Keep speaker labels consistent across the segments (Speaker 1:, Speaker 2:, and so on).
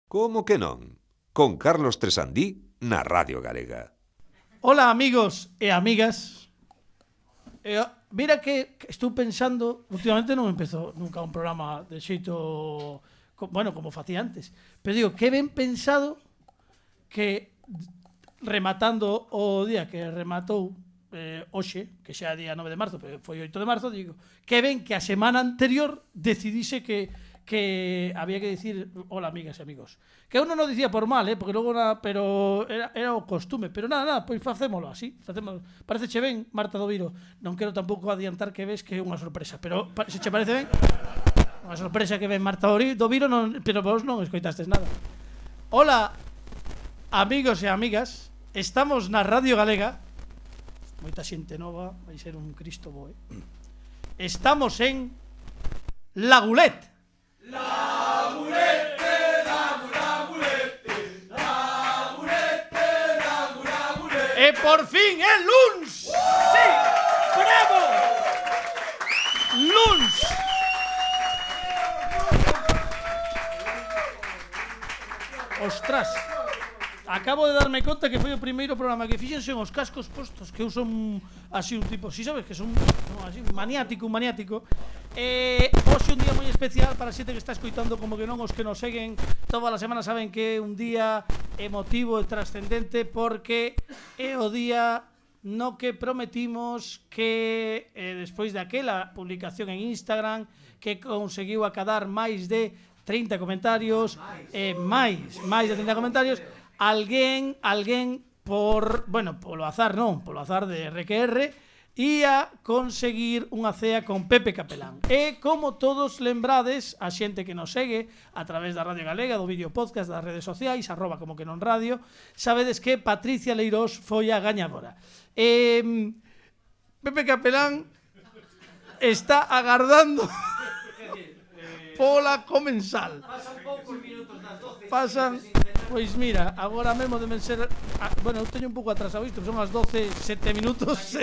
Speaker 1: Como que non? Con Carlos Tresandí na Radio Galega.
Speaker 2: Ola amigos e amigas. Mira que estou pensando, últimamente non empezo nunca un programa de xeito, bueno, como facía antes, pero digo, que ben pensado que rematando o día que rematou hoxe, que xa é día 9 de marzo, pero foi 8 de marzo, digo, que ben que a semana anterior decidise que había que dicir hola amigas e amigos. Que uno non dicía por mal, porque logo pero era o costume, pero nada, pois facémolo así, Pareceche ben, Marta do Viro. Non quero tampouco adiantar que ves que é unha sorpresa, pero se che parece ben, unha sorpresa que ven Marta do Viro, non, pero vos non escoitastes nada. Hola, amigos e amigas, estamos na Radio Galega. Moita xente nova, vai ser un Cristo bo, Estamos en Lagulete.
Speaker 3: Lagulete,
Speaker 2: E por fin é luns. Sí, bravo. Luns. Ostras. Acabo de darme conta que foi o primeiro programa que fixense os cascos postos, que eu son así un tipo, si sabes que son así maniático. Hoxe un día moi especial para a xente que está escoitando, como que non os que nos seguen toda a semana saben que é un día emotivo e trascendente, porque é o día no que prometimos que despois daquela publicación en Instagram que conseguiu acadar máis de 30 comentarios, máis de 30 comentarios, alguén polo azar de RQR ia conseguir unha cea con Pepe Capelán. E como todos lembrades, a xente que nos segue a través da Radio Galega, do vídeo podcast, das redes sociais, @comoquenonradio, sabedes que Patricia Leirós foi a gañadora. Pepe Capelán está agardando pola comensal.
Speaker 3: Pasan poucos minutos das 12.
Speaker 2: Pasan, pois mira, agora mesmo deben ser, bueno, eu teño un pouco atrasado isto, son as 12:07 minutos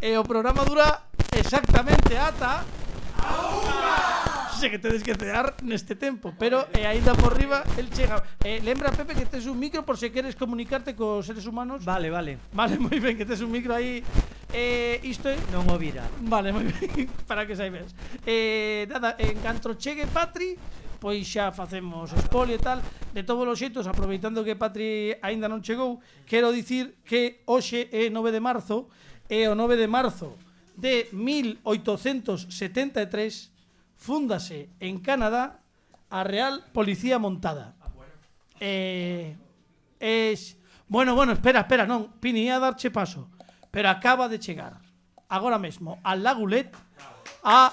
Speaker 2: e o programa dura exactamente ata a unha. Sei que tedes que cear neste tempo, pero aínda por riba el chega. Lembra, Pepe, que tes un micro por se queres comunicarte cos seres humanos.
Speaker 3: Vale,
Speaker 2: moi ben, que tes un micro aí. Isto é
Speaker 3: non o vira.
Speaker 2: Vale, moi ben, para que saibes. Nada, en canto chegue Patri, pois xa facemos spoiler e tal. De todos os xeitos, aproveitando que Patri aínda non chegou, quero dicir que hoxe é 9 de marzo, e o 9 de marzo de 1873 fúndase en Canadá a Real Policía Montada. Bueno, espera, non, Pini, ia darche paso, pero acaba de chegar agora mesmo a Lagulet a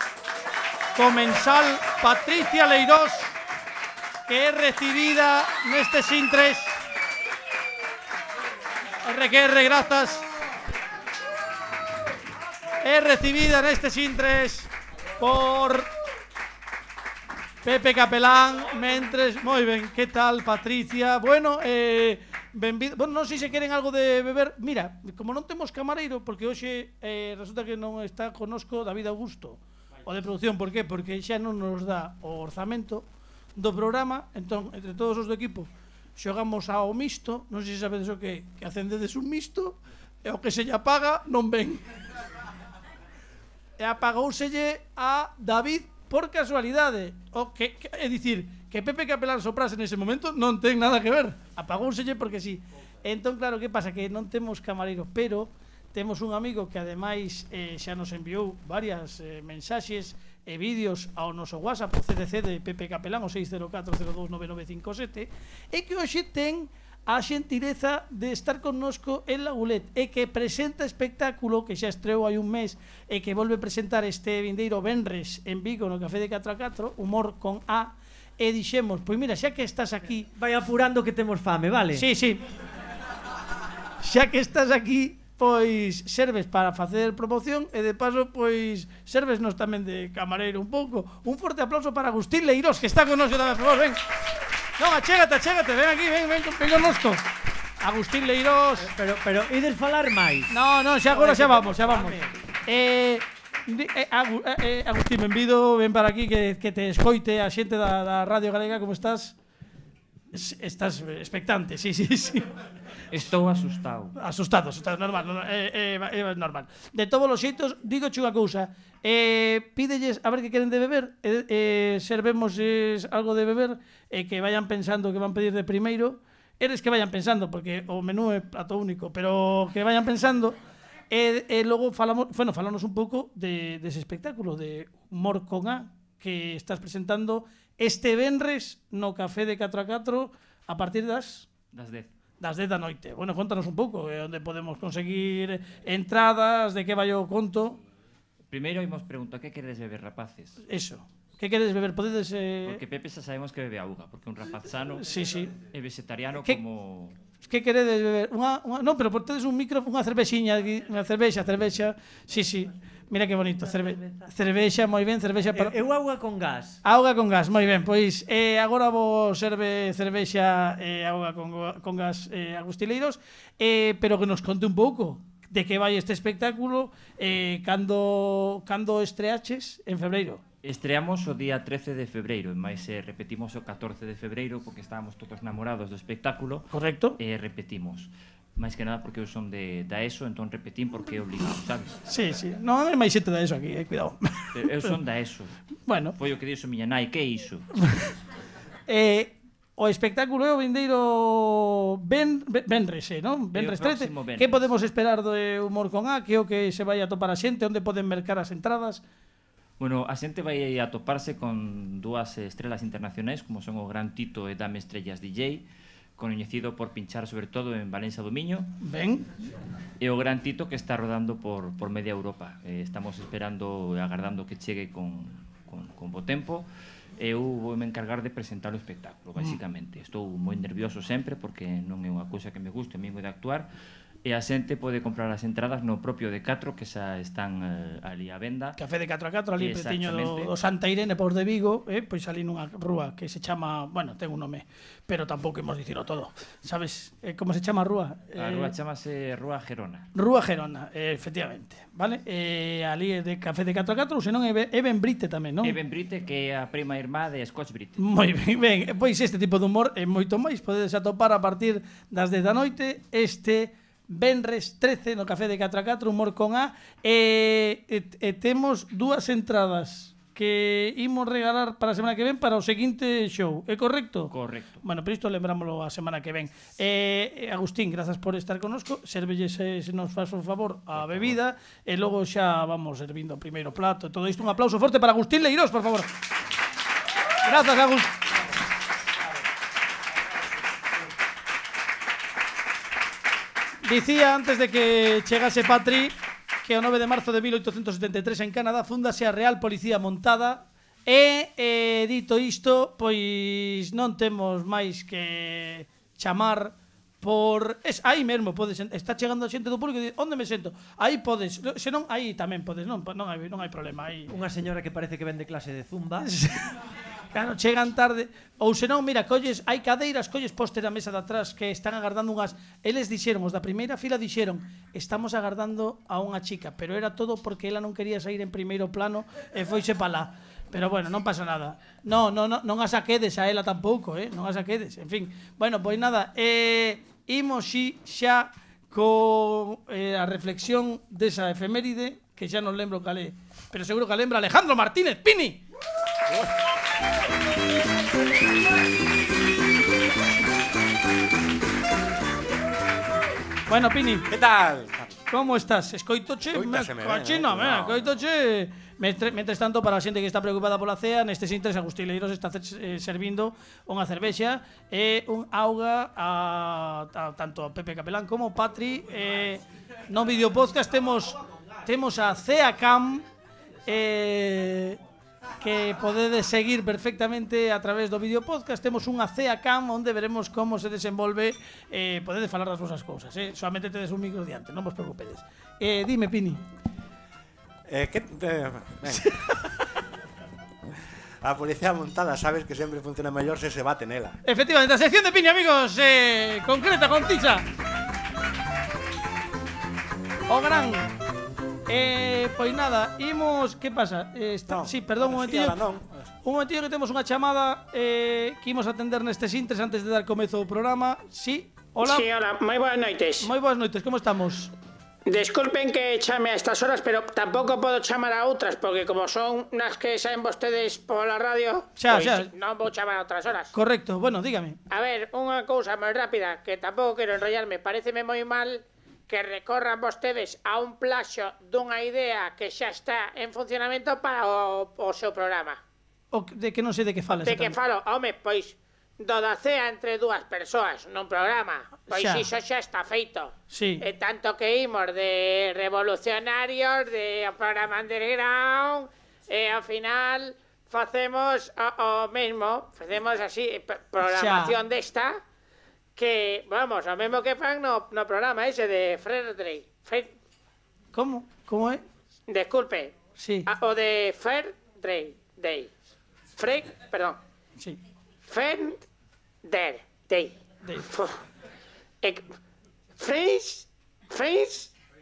Speaker 2: comensal Patricia Leirós, que é recibida neste Sintres. RQR, grazas. É recibida neste Sintres por Pepe Capelán. Mentres, moi ben, que tal, Patricia? Bueno, benvido. Bueno, non sei se queren algo de beber. Mira, como non temos camareiro, porque hoxe resulta que non está conosco David Augusto, o de producción. Por qué? Porque xa non nos dá o orzamento do programa. Entón, entre todos os do equipo xogamos ao misto. Non sei se sabedes o que acendedes un misto e o que se lle apaga non ven. E apagouselle a David por casualidade. É dicir, que Pepe Capelán soprase nese momento non ten nada que ver. Apagouselle porque sí. Entón, claro, que pasa? Que non temos camareiro, pero temos un amigo que ademais xa nos enviou varias mensaxes e vídeos ao noso WhatsApp, o CDC de Pepe Capelán, o 604029957, e que hoxe ten a xentileza de estar connosco en Lagulet, e que presenta espectáculo que xa estreou hai un mes e que volve a presentar este vindeiro venres en Vigo no Café de 4x4, Humor con A. E dixemos, pois mira, xa que estás aquí,
Speaker 3: vai apurando que temos fame, vale?
Speaker 2: Sí, xa que estás aquí, pois serves para facer promoción e de paso, pois servesnos tamén de camareiro un pouco. Un forte aplauso para Agustín Leirós, que está connosco tamén, por favor, ven. Non, achégate, ven aquí, ven connosco. Agustín Leirós.
Speaker 3: Pero ides falar máis?
Speaker 2: No, xa agora xa vamos. Agustín, benvido, ven para aquí que te escoite a xente da Radio Galega, como estás? Estás expectante, sí.
Speaker 4: Estou asustado.
Speaker 2: Asustado, normal, normal. De todos os xeitos, digo unha cousa. Pídelles a ver que queren de beber, servemos algo de beber, que vayan pensando que van pedir de primeiro. Eres que vayan pensando, porque o menú é plato único, pero que vayan pensando. Logo falamos un pouco dese espectáculo de Humor con A que estás presentando este venres no Café de 4 a 4 a partir das
Speaker 4: 10.
Speaker 2: Das 10 da noite. Bueno, contanos un pouco onde podemos conseguir entradas, de que vai o conto.
Speaker 4: Primeiro imos preguntar que queredes beber, rapaces.
Speaker 2: Eso. Que queredes beber? Podedes...
Speaker 4: Porque Pepe xa sabemos que bebe auga, porque un rapaz sano
Speaker 2: sí.
Speaker 4: é vegetariano como...
Speaker 2: Que queredes beber? Non, pero tedes un micro, unha cervexiña aquí, unha cervexa. Sí. Mira que bonito, cervexa, moi ben, cervexa para...
Speaker 3: Eu auga con gas.
Speaker 2: Auga con gas, moi ben. Pois agora vos serve cervexa auga con gas Agustileiros, pero que nos conte un pouco de que vai este espectáculo, cando estreaches en febreiro.
Speaker 4: Estreamos o día 13 de febreiro, mais repetimos o 14 de febreiro porque estábamos todos namorados do espectáculo.
Speaker 2: Correcto.
Speaker 4: E repetimos. Máis que nada porque eu son da ESO, entón repetín porque é obligado, sabes?
Speaker 2: Sí. Non hai máis xente da ESO aquí, cuidado.
Speaker 4: Eu son da ESO.
Speaker 2: Bueno.
Speaker 4: Foi o que dixo miña nai, que é iso?
Speaker 2: O espectáculo é o vindeiro venres, non? Venres 13. Que podemos esperar do Humor con A? Que é o que se vai a topar a xente? Onde poden mercar as entradas?
Speaker 4: Bueno, a xente vai a toparse con dúas estrelas internacionais, como son o Gran Tito e Dame Estrellas DJ, coñecido por pinchar sobre todo en Valencia do Miño.
Speaker 2: Ben.
Speaker 4: E o Gran Tito que está rodando por media Europa. Estamos esperando e agardando que chegue con bo tempo. Eu vou me encargar de presentar o espectáculo, basicamente. Estou moi nervioso sempre porque non é unha cousa que me guste, a mí de actuar. E a xente pode comprar as entradas no propio de 4, que xa están ali á venda.
Speaker 2: Café de 4 a 4, ali pretiño do Santa Irene por de Vigo, pois ali nunha rúa que se chama, bueno, ten un nome, pero tampouco imos dicilo todo. Sabes como se chama a rúa?
Speaker 4: A rúa chamase Rúa Gerona.
Speaker 2: Rúa Gerona, efectivamente, vale? Ali é de Café de 4 a 4, ou senón é Ben Brite tamén, non?
Speaker 4: É Ben Brite, que é a prima irmá de Scotch Brite.
Speaker 2: Moi ben, pois este tipo de humor é moito máis, podedes atopar a partir das 10 da noite, venres 13 no Café de 4 a 4, Humor con A, temos dúas entradas que imos regalar para a semana que ven para o seguinte show, é correcto?
Speaker 4: Correcto.
Speaker 2: Bueno, pero isto lembrámoslo a semana que ven. Agustín, grazas por estar connosco, servelles, se nos faz un favor, a bebida, e logo xa vamos servindo o primeiro plato e todo isto. Un aplauso forte para Agustín Leirós, por favor. Grazas, Agustín. Dicía antes de que chegase Patri que o 9 de marzo de 1873 en Canadá fundase a Real Policía Montada e, dito isto, pois non temos máis que chamar por... aí mesmo podes... Está chegando a xente do público e di, onde me sento? Aí podes, senón aí tamén podes, non hai problema. Aí.
Speaker 3: Unha señora que parece que vende clase de zumba.
Speaker 2: Claro, chegan tarde. Ou senón, mira, hai cadeiras, colles poste da mesa de atrás que están agardando unhas... Eles dixeron, os da primeira fila dixeron, estamos agardando a unha chica, pero era todo porque ela non quería sair en primeiro plano e foise pa lá. Pero bueno, non pasa nada. Non a saquedes a ela tampouco, non a saquedes. En fin, bueno, pois nada, imos xa con a reflexión desa efeméride, que xa non lembro cal é, pero seguro que a lembra Alejandro Martínez Pini. Bueno, Pini.
Speaker 5: Que tal?
Speaker 2: Como estás? Escoitoche? Escoitoche. Mentres tanto, para a xente que está preocupada pola cea, nestes intres Agustín Leirós está servindo unha cervexa e un auga a tanto a Pepe Capelán como Patri. No videopodcast temos a Cea Cam que podedes seguir perfectamente a través do videopodcast. Temos unha Cea Cam onde veremos como se desenvolve. Podedes falar das vosas cousas, solamente tedes un micro diante, non vos preocupedes. Dime, Pini.
Speaker 5: A policía montada sabes que sempre funciona mellor se se bate nela.
Speaker 2: Efectivamente, a sección de Pini, amigos, concreta, concisa. O gran. Pois nada, imos... Que pasa? Sí, perdón un momentillo. un momentillo que temos unha chamada que imos atender nestes intres antes de dar comezo ao programa. Sí, hola.
Speaker 6: Sí, hola, moi boas noites.
Speaker 2: Moi boas noites, como estamos?
Speaker 6: Disculpen que chame a estas horas, pero tampouco podo chamar a outras, porque como son nas que saen vostedes pola radio,
Speaker 2: Xa,
Speaker 6: pois
Speaker 2: xa.
Speaker 6: non vou chamar a outras horas.
Speaker 2: Correcto, bueno, dígame.
Speaker 6: A ver, unha cousa moi rápida, que tampouco quero enrollarme, pareceme moi mal que recorran vostedes a un plaxo dunha idea que xa está en funcionamento para o seu programa.
Speaker 2: De que non sei de que falas.
Speaker 6: De que falo, home, pois do da cea entre dúas persoas nun programa. Pois
Speaker 2: Xa.
Speaker 6: iso xa está feito.
Speaker 2: Sí.
Speaker 6: E tanto que imos de revolucionarios, de programa underground, e ao final facemos o mesmo, facemos así, programación desta, que, vamos, o mesmo que fan no programa ese de Fair Day.
Speaker 2: Como? Como é?
Speaker 6: Disculpe.
Speaker 2: Sí.
Speaker 6: O de Fair Day. Perdón.
Speaker 2: Sí.
Speaker 6: Fair Day.
Speaker 2: Day.
Speaker 6: Freeze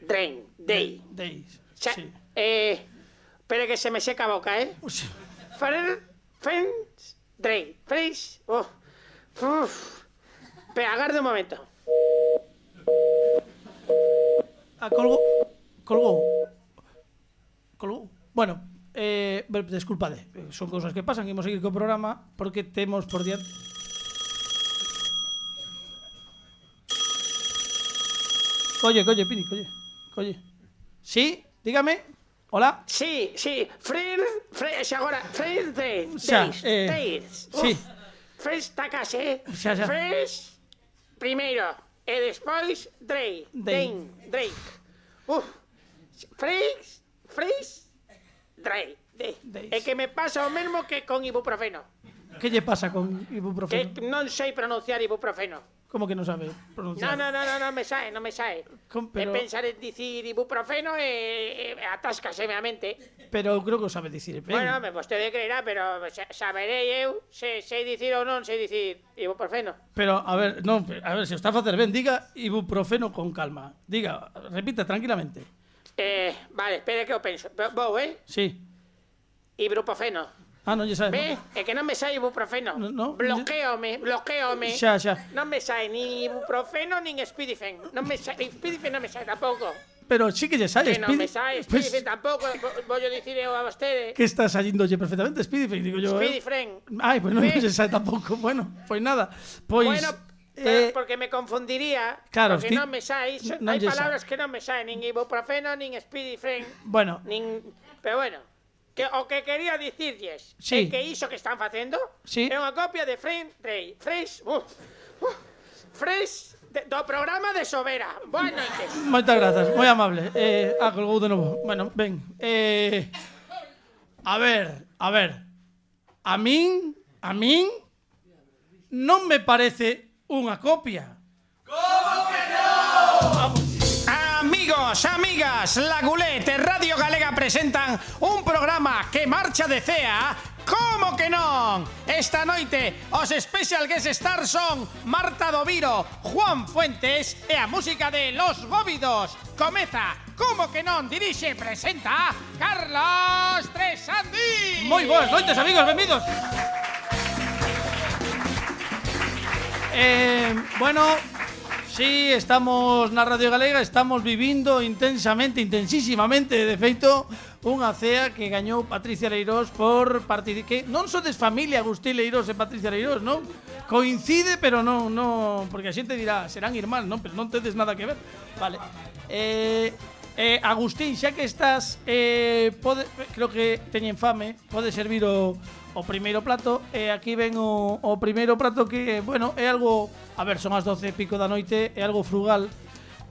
Speaker 6: Drain Day.
Speaker 2: Days.
Speaker 6: Xa,
Speaker 2: Sí.
Speaker 6: espere que se me seca a boca,
Speaker 2: Sí.
Speaker 6: Freeze Drain. Freeze. Pero agarde un momento.
Speaker 2: Ah, colgou. Bueno, desculpade, son cousas que pasan, imos seguir co programa porque temos por diante. Colle, Pini, colle. Sí, dígame. Hola.
Speaker 6: Sí. Freeze agora. Freeze Drain.
Speaker 2: Xa,
Speaker 6: Days.
Speaker 2: sí.
Speaker 6: Freeze tacase.
Speaker 2: Xa.
Speaker 6: Freeze primeiro. E despois Drain. Drake. Freeze Drain.
Speaker 2: Days.
Speaker 6: É que me pasa o mesmo que con ibuprofeno.
Speaker 2: Que lle pasa con ibuprofeno?
Speaker 6: Que non sei pronunciar ibuprofeno.
Speaker 2: Como que non sabe pronunciar?
Speaker 6: Non me sae.
Speaker 2: Pero-
Speaker 6: Pensar en dicir ibuprofeno e atáscaseme a mente.
Speaker 2: Pero creo que o sabe dicir ben.
Speaker 6: Bueno, vostede creerá, pero saberei eu se sei dicir ou non sei dicir ibuprofeno.
Speaker 2: Pero, a ver, se o está a facer ben, diga ibuprofeno con calma. Diga, repita tranquilamente.
Speaker 6: Vale, espere que eu penso. Vou,
Speaker 2: Sí.
Speaker 6: Ibuprofeno.
Speaker 2: Ah, non lle sabe.
Speaker 6: Ve? É que non me sae ibuprofeno.
Speaker 2: No.
Speaker 6: Bloqueome.
Speaker 2: Xa.
Speaker 6: Non me sae ni ibuprofeno nin Spidifen. Spidifen non me sae tampouco.
Speaker 2: Pero sí que lle sae.
Speaker 6: Que non me sae Spidifen tampouco. Vou dicir eu a vostede.
Speaker 2: Que está saindo perfectamente Speedyfin, digo yo.
Speaker 6: Spidifen.
Speaker 2: Ai, pues non
Speaker 6: Ve?
Speaker 2: lle sae tampouco. Bueno, pois nada. Pois
Speaker 6: Bueno, porque me confundiría.
Speaker 2: claro,
Speaker 6: porque non me sae.
Speaker 2: non
Speaker 6: Hai
Speaker 2: lle
Speaker 6: palabras que non me saen. Nin ibuprofeno, nin Spidifen.
Speaker 2: Bueno,
Speaker 6: Pero bueno. O que quería dicirlles
Speaker 2: Sí.
Speaker 6: é que iso que están facendo
Speaker 2: Sí.
Speaker 6: é unha copia de Fresh do programa de Sobera. Boas noites.
Speaker 2: moitas grazas, moi amable. Colgou de novo. Bueno, ben. A ver. A min non me parece unha copia. Amigos, amigas, La Gulete e Radio Galega presentan un programa que marcha de cea. Como que non? Esta noite os Special Guest Stars son Marta Doviro, Juan Fuentes e a música de Los Bóvidos. Comeza, como que non, dirixe e presenta Carlos Tresandi. Moi boas noites, amigos, benvidos. Bueno, sí, estamos na Radio Galega, estamos vivindo intensísimamente, de feito, unha cea que gañou Patricia Leirós por participar. Non sodes familia Agustín Leirós e Patricia Leirós, non? Coincide, pero non, porque a xente dirá, serán irmáns, non? Pero non tedes nada que ver. Vale. Agustín, xa que estás, creo que teñen fame, pode servir o primeiro plato. E aquí ven o primeiro plato que, bueno, é algo, a ver, son as 12 e pico da noite, é algo frugal.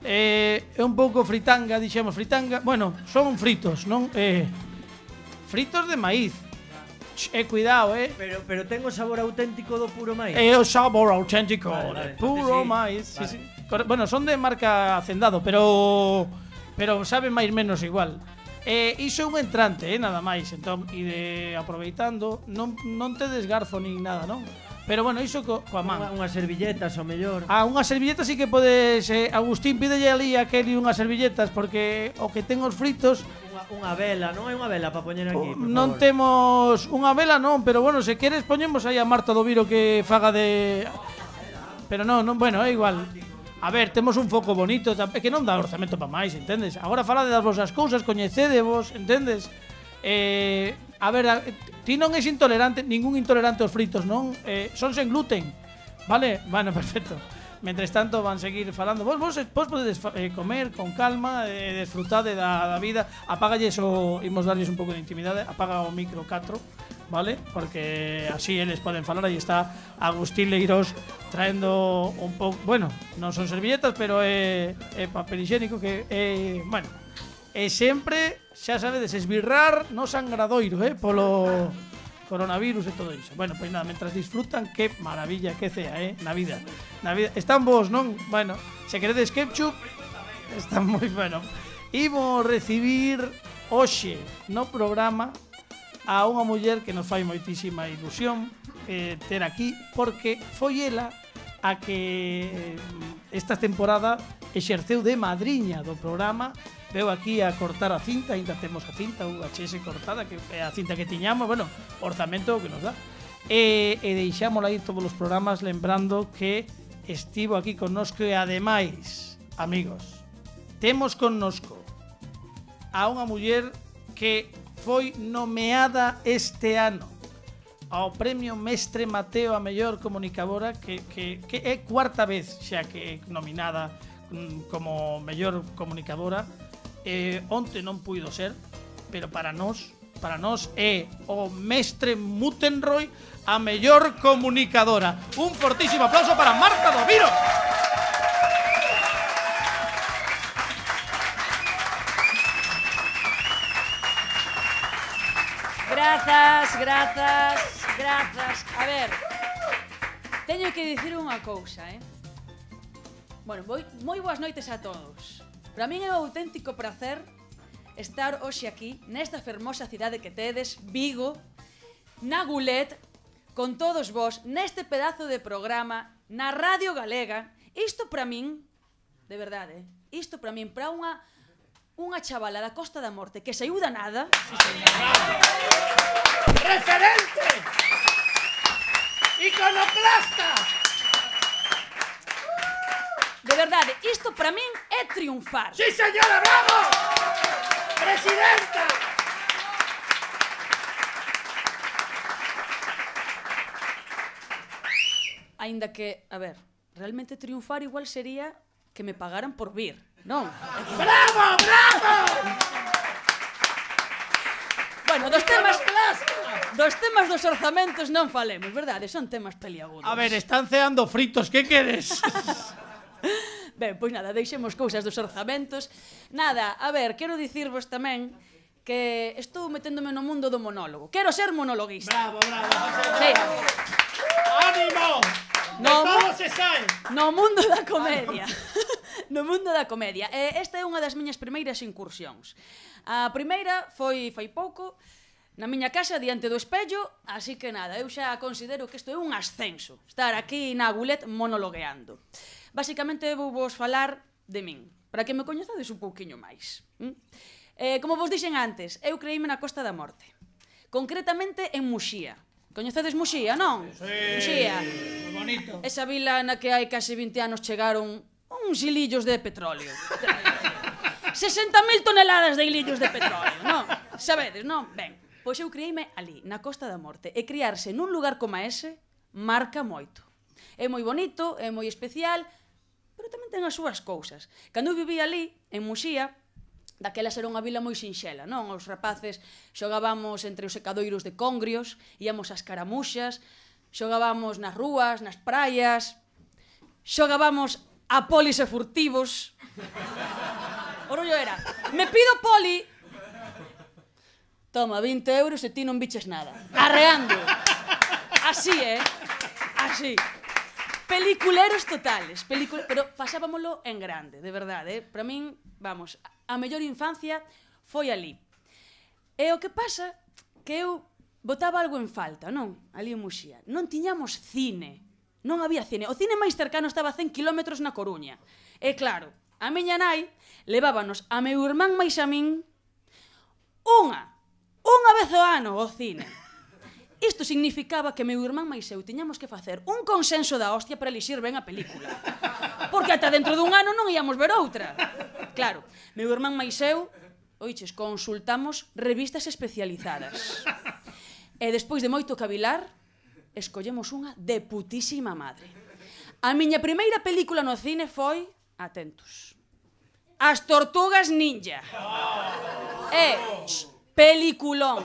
Speaker 2: É un pouco fritanga, dixemos fritanga. Bueno, son fritos, non? Fritos de maíz. Cuidado,
Speaker 3: Pero ten o sabor auténtico do puro maíz.
Speaker 2: É o sabor auténtico
Speaker 3: Vale,
Speaker 2: de puro
Speaker 3: sí.
Speaker 2: maíz. Sí,
Speaker 3: Vale.
Speaker 2: sí. Bueno, son de marca Hacendado, pero saben máis menos igual. Iso é un entrante, nada máis. Entón, aproveitando, non tedes garfo nin nada, non? Pero bueno, iso coa man.
Speaker 3: Unhas servilletas, ao mellor.
Speaker 2: Unhas servilletas sí que podes... Agustín, pídelle ali a Kelly unhas servilletas, porque o que ten os fritos...
Speaker 3: Unha vela, non hai unha vela para poñer aquí, por
Speaker 2: non
Speaker 3: favor.
Speaker 2: temos unha vela, non, pero bueno, se queres poñemos aí a Marta do Viro que faga de... Pero non, bueno, é igual. A ver, temos un foco bonito, é que non dá orzamento para máis, entendes? Agora falade das vosas cousas, coñecedevos, entendes? A ver, ti non és intolerante, ningún intolerante aos fritos, non? Son sen gluten, vale? Bueno, perfecto. Mentres tanto van seguir falando. Vos podedes comer con calma, desfrutade da vida. Apágalles imos darlles un pouco de intimidade. Apaga o micro 4, vale? Porque así eles poden falar. Aí está Agustín Leirós traendo un pouco, bueno, non son servilletas, pero é papel higiénico que bueno, sempre, xa sabedes, esbirrar no sangradoiro, polo coronavirus e todo iso. Bueno, pois nada, mentras disfrutan, que maravilla, que cea, na vida. Están vos, non? Bueno, se queredes ketchup, está moi bueno. Imos recibir hoxe no programa a unha muller que nos fai moitísima ilusión ter aquí, porque foi ela a que esta temporada exerceu de madriña do programa. Veu aquí a cortar a cinta, ainda temos a cinta UHS cortada, que é a cinta que tiñamos, bueno, orzamento que nos dá. E deixámola aí todos os programas lembrando que estivo aquí connosco e ademais, amigos, temos connosco a unha muller que foi nomeada este ano ao Premio Mestre Mateo a mellor comunicadora, que é cuarta vez xa que é nominada como mellor comunicadora. Onte non puido ser, pero para nós é o Mestre Mutenroy a mellor comunicadora. Un fortísimo aplauso para Marta do Viro.
Speaker 7: Grazas. A ver, teño que dicir unha cousa, Bueno, moi boas noites a todos. Para min é un auténtico placer estar hoxe aquí, nesta fermosa cidade que tedes, Vigo, na Gulet, con todos vos, neste pedazo de programa, na Radio Galega. Isto para min, de verdade, isto para min, para unha chavala da Costa da Morte que se ayuda nada.
Speaker 2: ¡Referente! ¡Iconoclasta!
Speaker 7: De verdade, isto para min é triunfar.
Speaker 2: ¡Sí, señora, bravo! ¡Presidenta!
Speaker 7: Aínda que, a ver, realmente triunfar igual sería que me pagaran por vir, non?
Speaker 2: ¡Bravo, bravo!
Speaker 7: Bueno, dos temas dos orzamentos non falemos, verdade? Son temas peliagudos.
Speaker 2: A ver, están ceando fritos, que queres?
Speaker 7: Ben, pois nada, deixemos cousas dos orzamentos. Nada, a ver, quero dicirvos tamén que estou meténdome no mundo do monólogo. Quero ser monologuista.
Speaker 2: Bravo,
Speaker 7: Sí.
Speaker 2: ¡Ánimo!
Speaker 7: No,
Speaker 2: se sae!
Speaker 7: no mundo da comedia. No mundo da comedia. Esta é unha das miñas primeiras incursións. A primeira foi fai pouco, na miña casa, diante do espello, así que nada, eu xa considero que isto é un ascenso, estar aquí na Gulet monologueando. Basicamente vou vos falar de min, para que me coñezades un pouquiño máis. Como vos dixen antes, eu creíme na Costa da Morte, concretamente en Muxía. Coñecedes Muxía, non?
Speaker 2: Sí,
Speaker 7: Muxía.
Speaker 2: moi bonito.
Speaker 7: Esa vila na que hai case 20 anos chegaron uns hilillos de petróleo. 60.000 toneladas de hilillos de petróleo, non? Sabedes, non? Ben, pois eu criei-me ali, na Costa da Morte, e criarse nun lugar como ese marca moito. É moi bonito, é moi especial, pero tamén ten as súas cousas. Cando eu vivía ali, en Muxía, daquelas era unha vila moi sinxela, non? Os rapaces xogábamos entre os secadoiros de congrios, íamos ás caramuxas, xogábamos nas rúas, nas praias, xogábamos a polis e furtivos. O rollo era, me pido poli, toma 20 euros e ti non biches nada. Arreando. Así, así. Peliculeros totales, pero pasábamolo en grande, de verdade, Para min, vamos, a mellor infancia foi ali. E o que pasa que eu botaba algo en falta, non? Ali en Muxía. Non tiñamos cine. Non había cine. O cine máis cercano estaba a 100 kilómetros na Coruña. E claro, a miña nai levábanos a meu irmán máis a min unha vez ao ano ao cine. Isto significaba que meu irmán máis eu tiñamos que facer un consenso da hostia para elixir ben a película. Porque ata dentro dun ano non íamos ver outra. Claro, meu irmán máis eu, oiches, consultamos revistas especializadas. E despois de moito cavilar, escollemos unha de putísima madre. A miña primeira película no cine foi, atentos, As Tortugas Ninja. Peliculón.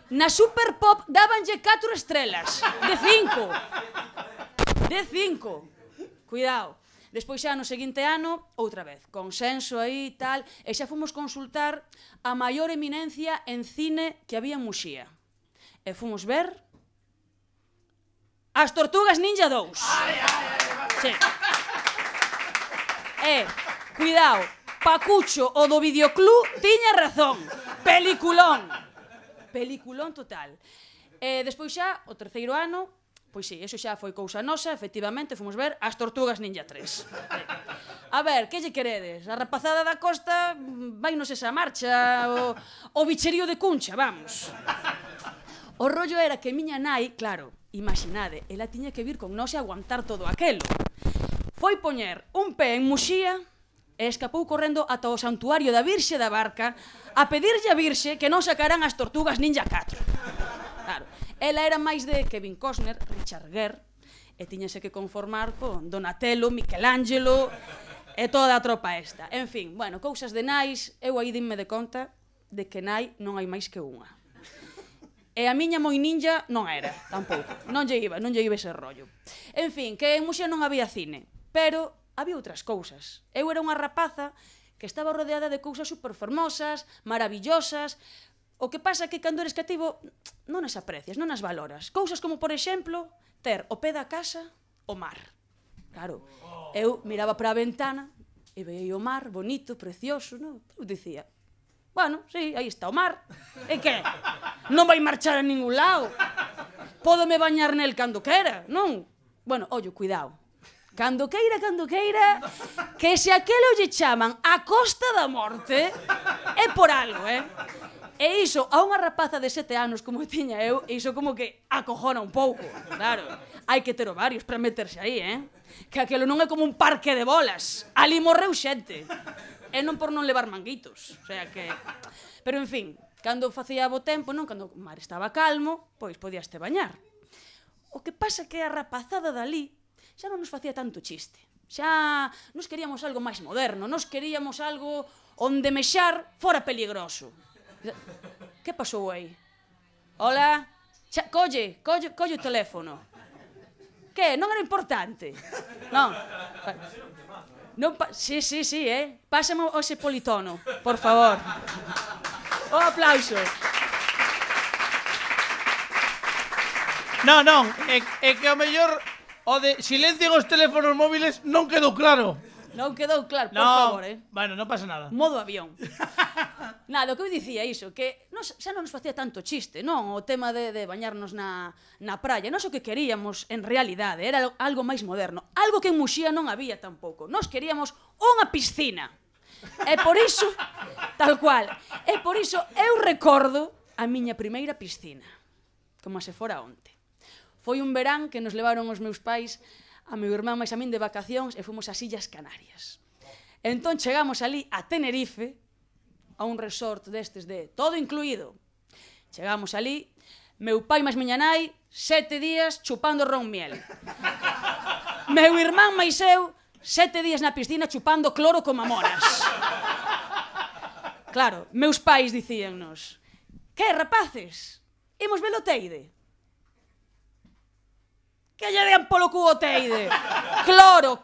Speaker 7: Na Super Pop dábanlle 4 estrelas. De 5. De 5. Cuidado. Despois xa no seguinte ano, outra vez, consenso aí e tal, e xa fomos consultar a maior eminencia en cine que había en Muxía. E fomos ver As Tortugas Ninja 2. Sí. Cuidado, Pacucho, o do videoclub, tiña razón. Peliculón. Peliculón total. Despois xa, o terceiro ano, pois sí, eso xa foi cousa nosa, efectivamente, fomos ver As Tortugas Ninja 3. A ver, que lle queredes? A rapazada da costa vainos esa marcha, o bicherío de Cuncha, vamos. O rollo era que miña nai, claro, imaginade, ela tiña que vir con nós e aguantar todo aquelo. Foi poñer un pé en Muxía e escapou correndo ata o santuario da Virxe da Barca a pedirlle a Virxe que non sacaran As Tortugas Ninja 4. Claro, ela era máis de Kevin Costner, Richard Gere, e tiñase que conformar con Donatello, Michelangelo e toda a tropa esta. En fin, bueno, cousas de nais, eu aí dinme de conta de que nai non hai máis que unha. E a miña moi ninja non era, tampouco. Non lle iba ese rollo. En fin, que en Muxía non había cine, pero había outras cousas. Eu era unha rapaza que estaba rodeada de cousas superfermosas, maravillosas. O que pasa é que cando eres cativo non as aprecias, non as valoras. Cousas como, por exemplo, ter o pé da casa o mar. Claro, eu miraba para a ventana e veía o mar bonito, precioso, non? Eu dicía, bueno, sí, aí está o mar. E que? Non vai marchar a ningún lado. Pódome bañar nel cando quera, non? Bueno, ollo, cuidado. Cando queira, que se aquelo lle chaman a Costa da Morte, é por algo, E iso, a unha rapaza de 7 anos como tiña eu, iso como que acojona un pouco, claro. Hai que ter ovarios para meterse aí, Que aquelo non é como un parque de bolas. Ali morreu xente. E non por non levar manguitos. O sea que... Pero, en fin, cando facía bo tempo, non? Cando o mar estaba calmo, pois podíaste bañar. O que pasa que a rapazada dali xa non nos facía tanto chiste. Xa nos queríamos algo máis moderno, nos queríamos algo onde mexar fora peligroso. Que pasou aí? Hola? Colle o teléfono. Que? Non era importante? Non? Sí, pásame ese politono, por favor. O aplauso.
Speaker 2: Non, é que ao mellor o de silencien os teléfonos móviles non quedou claro.
Speaker 7: Non quedou claro, por favor,
Speaker 2: Bueno, non pasa nada.
Speaker 7: Modo avión. Nada, o que eu dicía iso, que xa non nos facía tanto chiste, non? O tema de bañarnos na praia. Nós o que queríamos, en realidade, era algo máis moderno. Algo que en Muxía non había tampouco. Nós queríamos unha piscina. E por iso, tal cual, e por iso eu recordo a miña primeira piscina. Como se fora onte. Foi un verán que nos levaron os meus pais a meu irmán máis a min de vacacións e fomos ás Illas Canarias. Entón chegamos ali a Tenerife, a un resort destes de todo incluído. Chegamos ali, meu pai máis miña nai, 7 días chupando ron miel. Meu irmán máis eu, 7 días na piscina chupando cloro como moras. Claro, meus pais dicíannos, que, rapaces, imos ver o Teide? Que lle dean polo cubo Teide? Cloro,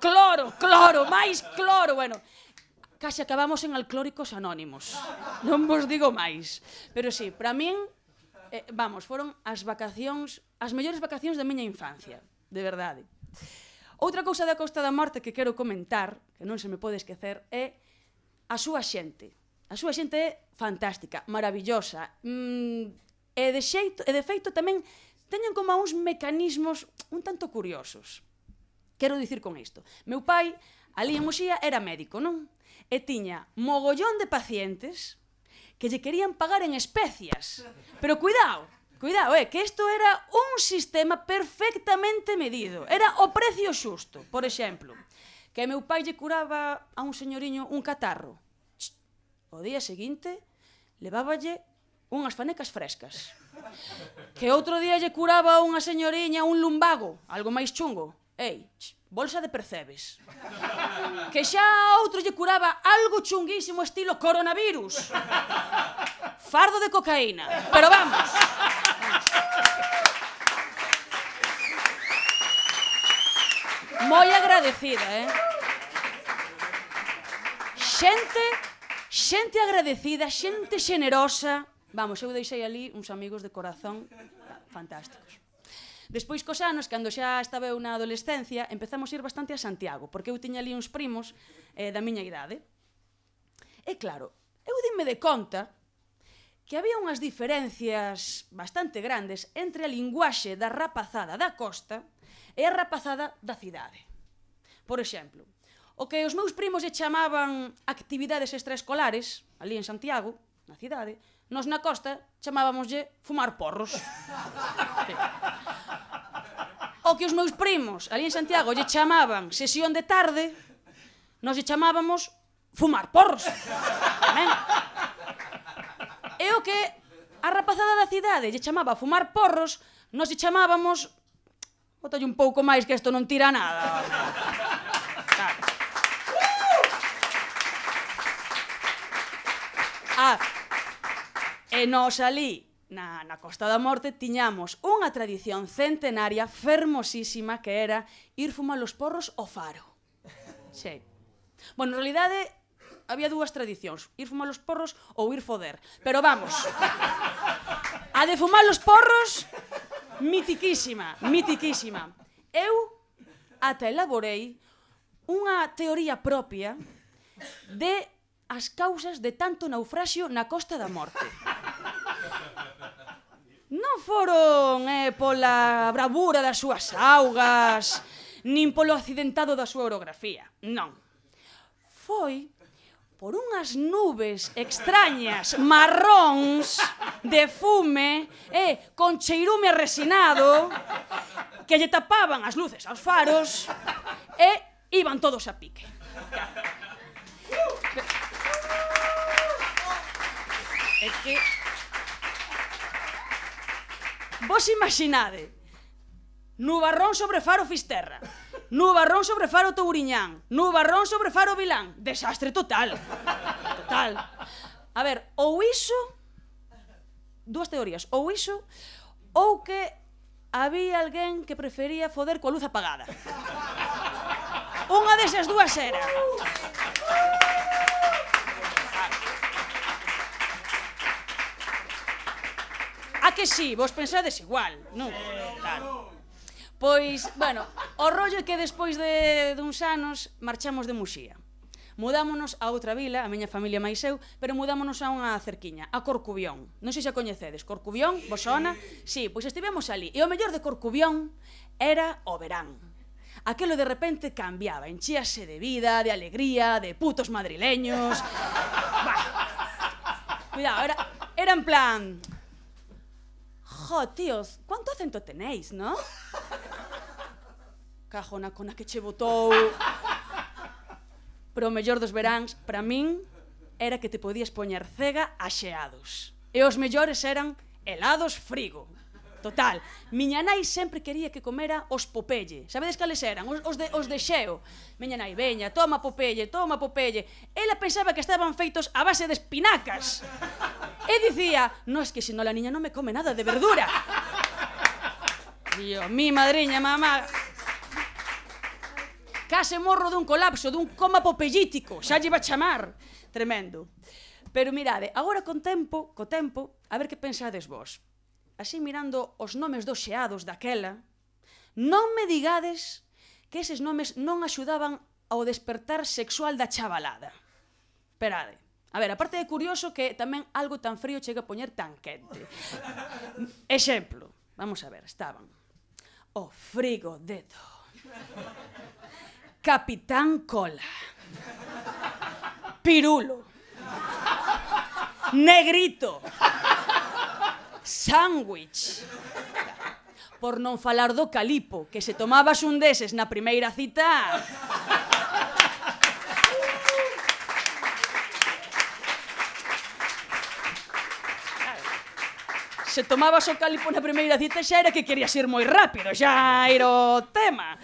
Speaker 7: máis cloro, bueno. Case acabamos en Alclóricos Anónimos. Non vos digo máis. Pero sí, para min, vamos, foron as vacacións, as mellores vacacións da miña infancia, de verdade. Outra cousa da Costa da Morte que quero comentar, que non se me pode esquecer, é a súa xente. A súa xente é fantástica, maravillosa. E de feito tamén teñen como uns mecanismos un tanto curiosos. Quero dicir con isto. Meu pai, ali en Muxía, era médico, non? E tiña mogollón de pacientes que lle querían pagar en especias. Pero cuidado, que isto era un sistema perfectamente medido. Era o precio xusto. Por exemplo, que meu pai lle curaba a un señoriño un catarro. O día seguinte, leváballe unhas fanecas frescas. Que outro día lle curaba a unha señoriña un lumbago, algo máis chungo. Ei, bolsa de percebes. Que xa a outro lle curaba algo chunguísimo estilo coronavirus. Fardo de cocaína. Pero vamos. Moi agradecida, Xente agradecida, xente xenerosa. Vamos, eu deixei ali uns amigos de corazón fantásticos. Despois, cos anos, cando xa estaba eu na adolescencia, empezamos a ir bastante a Santiago, porque eu tiña ali uns primos da miña idade. E claro, eu dime de conta que había unhas diferencias bastante grandes entre a linguaxe da rapazada da costa e a rapazada da cidade. Por exemplo, o que os meus primos lle chamaban actividades extraescolares, ali en Santiago, na cidade, nós na costa chamábamoslle fumar porros. Sí. O que os meus primos ali en Santiago lle chamaban sesión de tarde, nós lle chamábamos fumar porros. Ben? E o que a rapazada da cidade lle chamaba fumar porros, nós lle chamábamos... Botalle un pouco máis que isto non tira nada. Claro. E nós ali, na Costa da Morte, tiñamos unha tradición centenaria fermosísima que era ir fumar os porros ao faro. Sí. Bueno, en realidade, había dúas tradicións, ir fumar os porros ou ir foder. Pero vamos, a de fumar os porros, mitiquísima. Eu ata elaborei unha teoría propia de as causas de tanto naufraxio na Costa da Morte. Non foron pola bravura das súas augas, nin polo accidentado da súa orografía, non. Foi por unhas nubes extrañas, marróns, de fume, con cheirume resinado, que lle tapaban as luces aos faros, e iban todos a pique. É que... Vos imaginade, nubarrón sobre Faro Fisterra, nubarrón sobre Faro Touriñán, nubarrón sobre Faro Vilán. Desastre total. Total. A ver, ou iso... Dúas teorías. Ou iso, ou que había alguén que prefería foder coa luz apagada. Unha desas dúas era. A que sí, vos pensades igual, non? Claro. Pois, bueno, o rollo é que despois de uns anos marchamos de Muxía. Mudámonos a outra vila, a miña familia máis eu, pero mudámonos a unha cerquiña, a Corcubión. Non sei se a coñecedes, Corcubión, vos sona? Sí, pois estivemos ali. E o mellor de Corcubión era o verán. Aquelo de repente cambiaba, enchíase de vida, de alegría, de putos madrileños. Cuidado, era en plan... Jo, tíos, cuánto acento tenéis, ¿no? Cajona cona que che botou. Pero o mellor dos veráns, para min, era que te podías poñer cega a xeados. E os mellores eran helados frigo. Total, miña nai sempre quería que comera os Popeye. Sabedes cales eran? Os de xeo. Miña nai, veña, toma Popeye, toma Popeye. Ela pensaba que estaban feitos a base de espinacas. E dicía, no, es que si no la niña non me come nada de verdura. Dios, mi madriña, mamá. Case morro dun colapso, dun coma popeyítico. Xa lle iba a chamar. Tremendo. Pero mirade, agora co tempo, a ver que pensades vos. Así mirando os nomes dos xeados daquela, non me digades que eses nomes non axudaban ao despertar sexual da chavalada. Esperade, A ver, aparte de curioso que tamén algo tan frío chega a poñer tan quente. Exemplo, vamos a ver, estaban o Frigodedo, Capitán Cola, Pirulo, Negrito, Sándwich, por non falar do Calipo, que se tomabas un deses na primeira cita... Se tomabas o Calipo na primeira cita xa era que querías ir moi rápido, xa era o tema.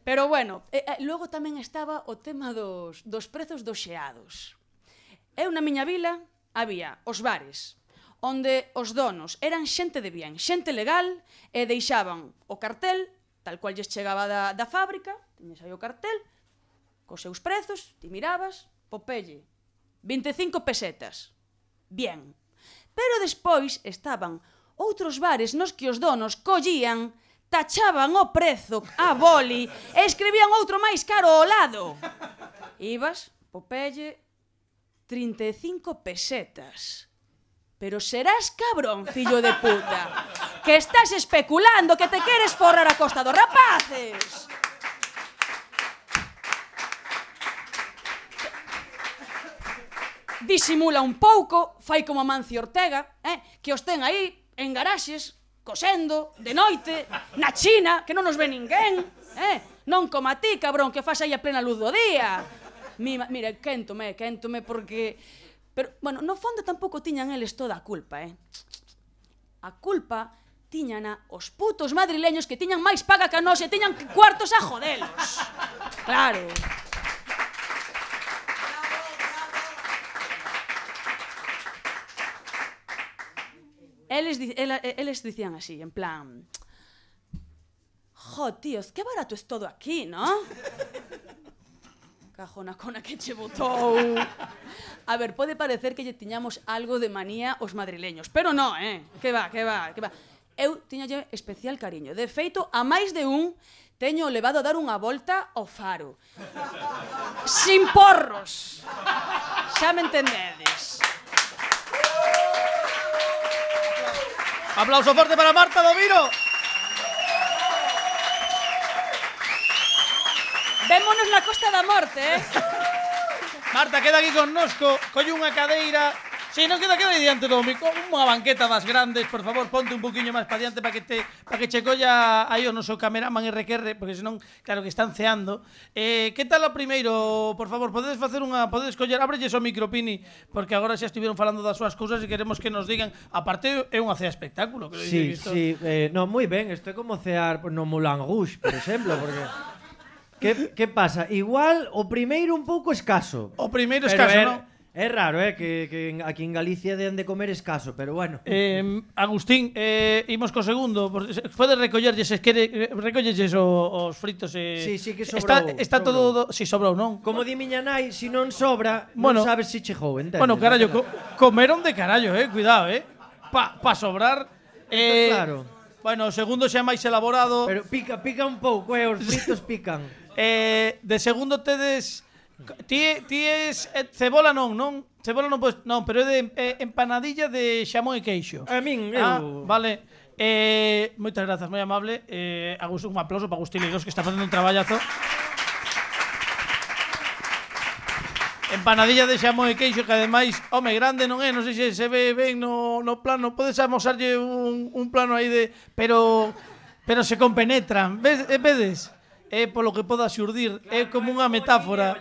Speaker 7: Pero bueno, logo tamén estaba o tema dos prezos dos xeados. Eu na miña vila había os bares, onde os donos eran xente de bien, xente legal, e deixaban o cartel, tal cual lles chegaba da fábrica, tiñes aí o cartel, cos seus prezos, ti mirabas, Popeye, 25 pesetas. Bien. Pero despois estaban outros bares nos que os donos collían, tachaban o prezo a boli e escribían outro máis caro ao lado. Ibas, Popeye, 35 pesetas. Pero serás cabrón, fillo de puta, que estás especulando, que te queres forrar a costa dos rapaces. Disimula un pouco, fai como Amancio Ortega, que os ten aí en garaxes, cosendo, de noite, na China, que non nos ve ninguén, non como a ti, cabrón, que fas aí a plena luz do día. Mira, quéntome, porque... Pero, bueno, no fondo tampouco tiñan eles toda a culpa, A culpa tiñana os putos madrileños que tiñan máis paga que a nós e tiñan cuartos a jodelos. Claro. Eles dicían así, en plan... Jo, tíos, que barato es todo aquí, ¿no? Cajona cona que che botou. A ver, pode parecer que lle tiñamos algo de manía os madrileños, pero no, que va. Eu tiñalle especial cariño. De feito, a máis de un teño levado a dar unha volta ao Faro. Sin porros. Xa me entendedes.
Speaker 2: Aplauso forte para Marta Domiro.
Speaker 7: Vémonos na Costa da Morte,
Speaker 2: Marta, queda aquí connosco, colle unha cadeira. Si, non queda aí diante do micro, unha banqueta das grandes, por favor, ponte un poquinho máis para diante para que che colla aí o noso cameraman RQR, porque senón, claro que están ceando. Que tal o primeiro, por favor, podedes coller, ábrelles o micro, Pini, porque agora xa estiveron falando das súas cousas e queremos que nos digan, aparte é unha cea espectáculo.
Speaker 8: Sí, no, moi ben, isto é como cear no Moulin Rouge, por exemplo, porque... Que pasa? Igual o primeiro un pouco escaso.
Speaker 2: O primeiro escaso, non?
Speaker 8: É raro, que aquí en Galicia den de comer escaso, pero bueno.
Speaker 2: Agustín, imos co segundo. Podes recollerlles, recollelles os fritos.
Speaker 8: Sí, que sobrou.
Speaker 2: Está todo... Si, sobrou, non?
Speaker 8: Como di miña nai, se non sobra,
Speaker 2: bueno,
Speaker 8: non sabes se chegou, entendes?
Speaker 2: Bueno, carallo, comeron de carallo, cuidado, pa sobrar.
Speaker 8: Claro.
Speaker 2: Bueno, o segundo xa máis elaborado.
Speaker 8: Pero pica un pouco, os fritos pican.
Speaker 2: De segundo tedes... Ti es cebola non? Cebola non podes... Non, pero é de empanadilla de xamón e queixo.
Speaker 8: A min,
Speaker 2: vale. Moitas grazas, moi amable. Un aplauso para Agustín Leiros, que está facendo un traballazo. Empanadilla de xamón e queixo, que ademais, home, grande non é, non sei se ve ben no plano. Podes amosarlle un plano aí de... Pero se compenetran. Vedes? É polo que poda xurdir, é como unha metáfora.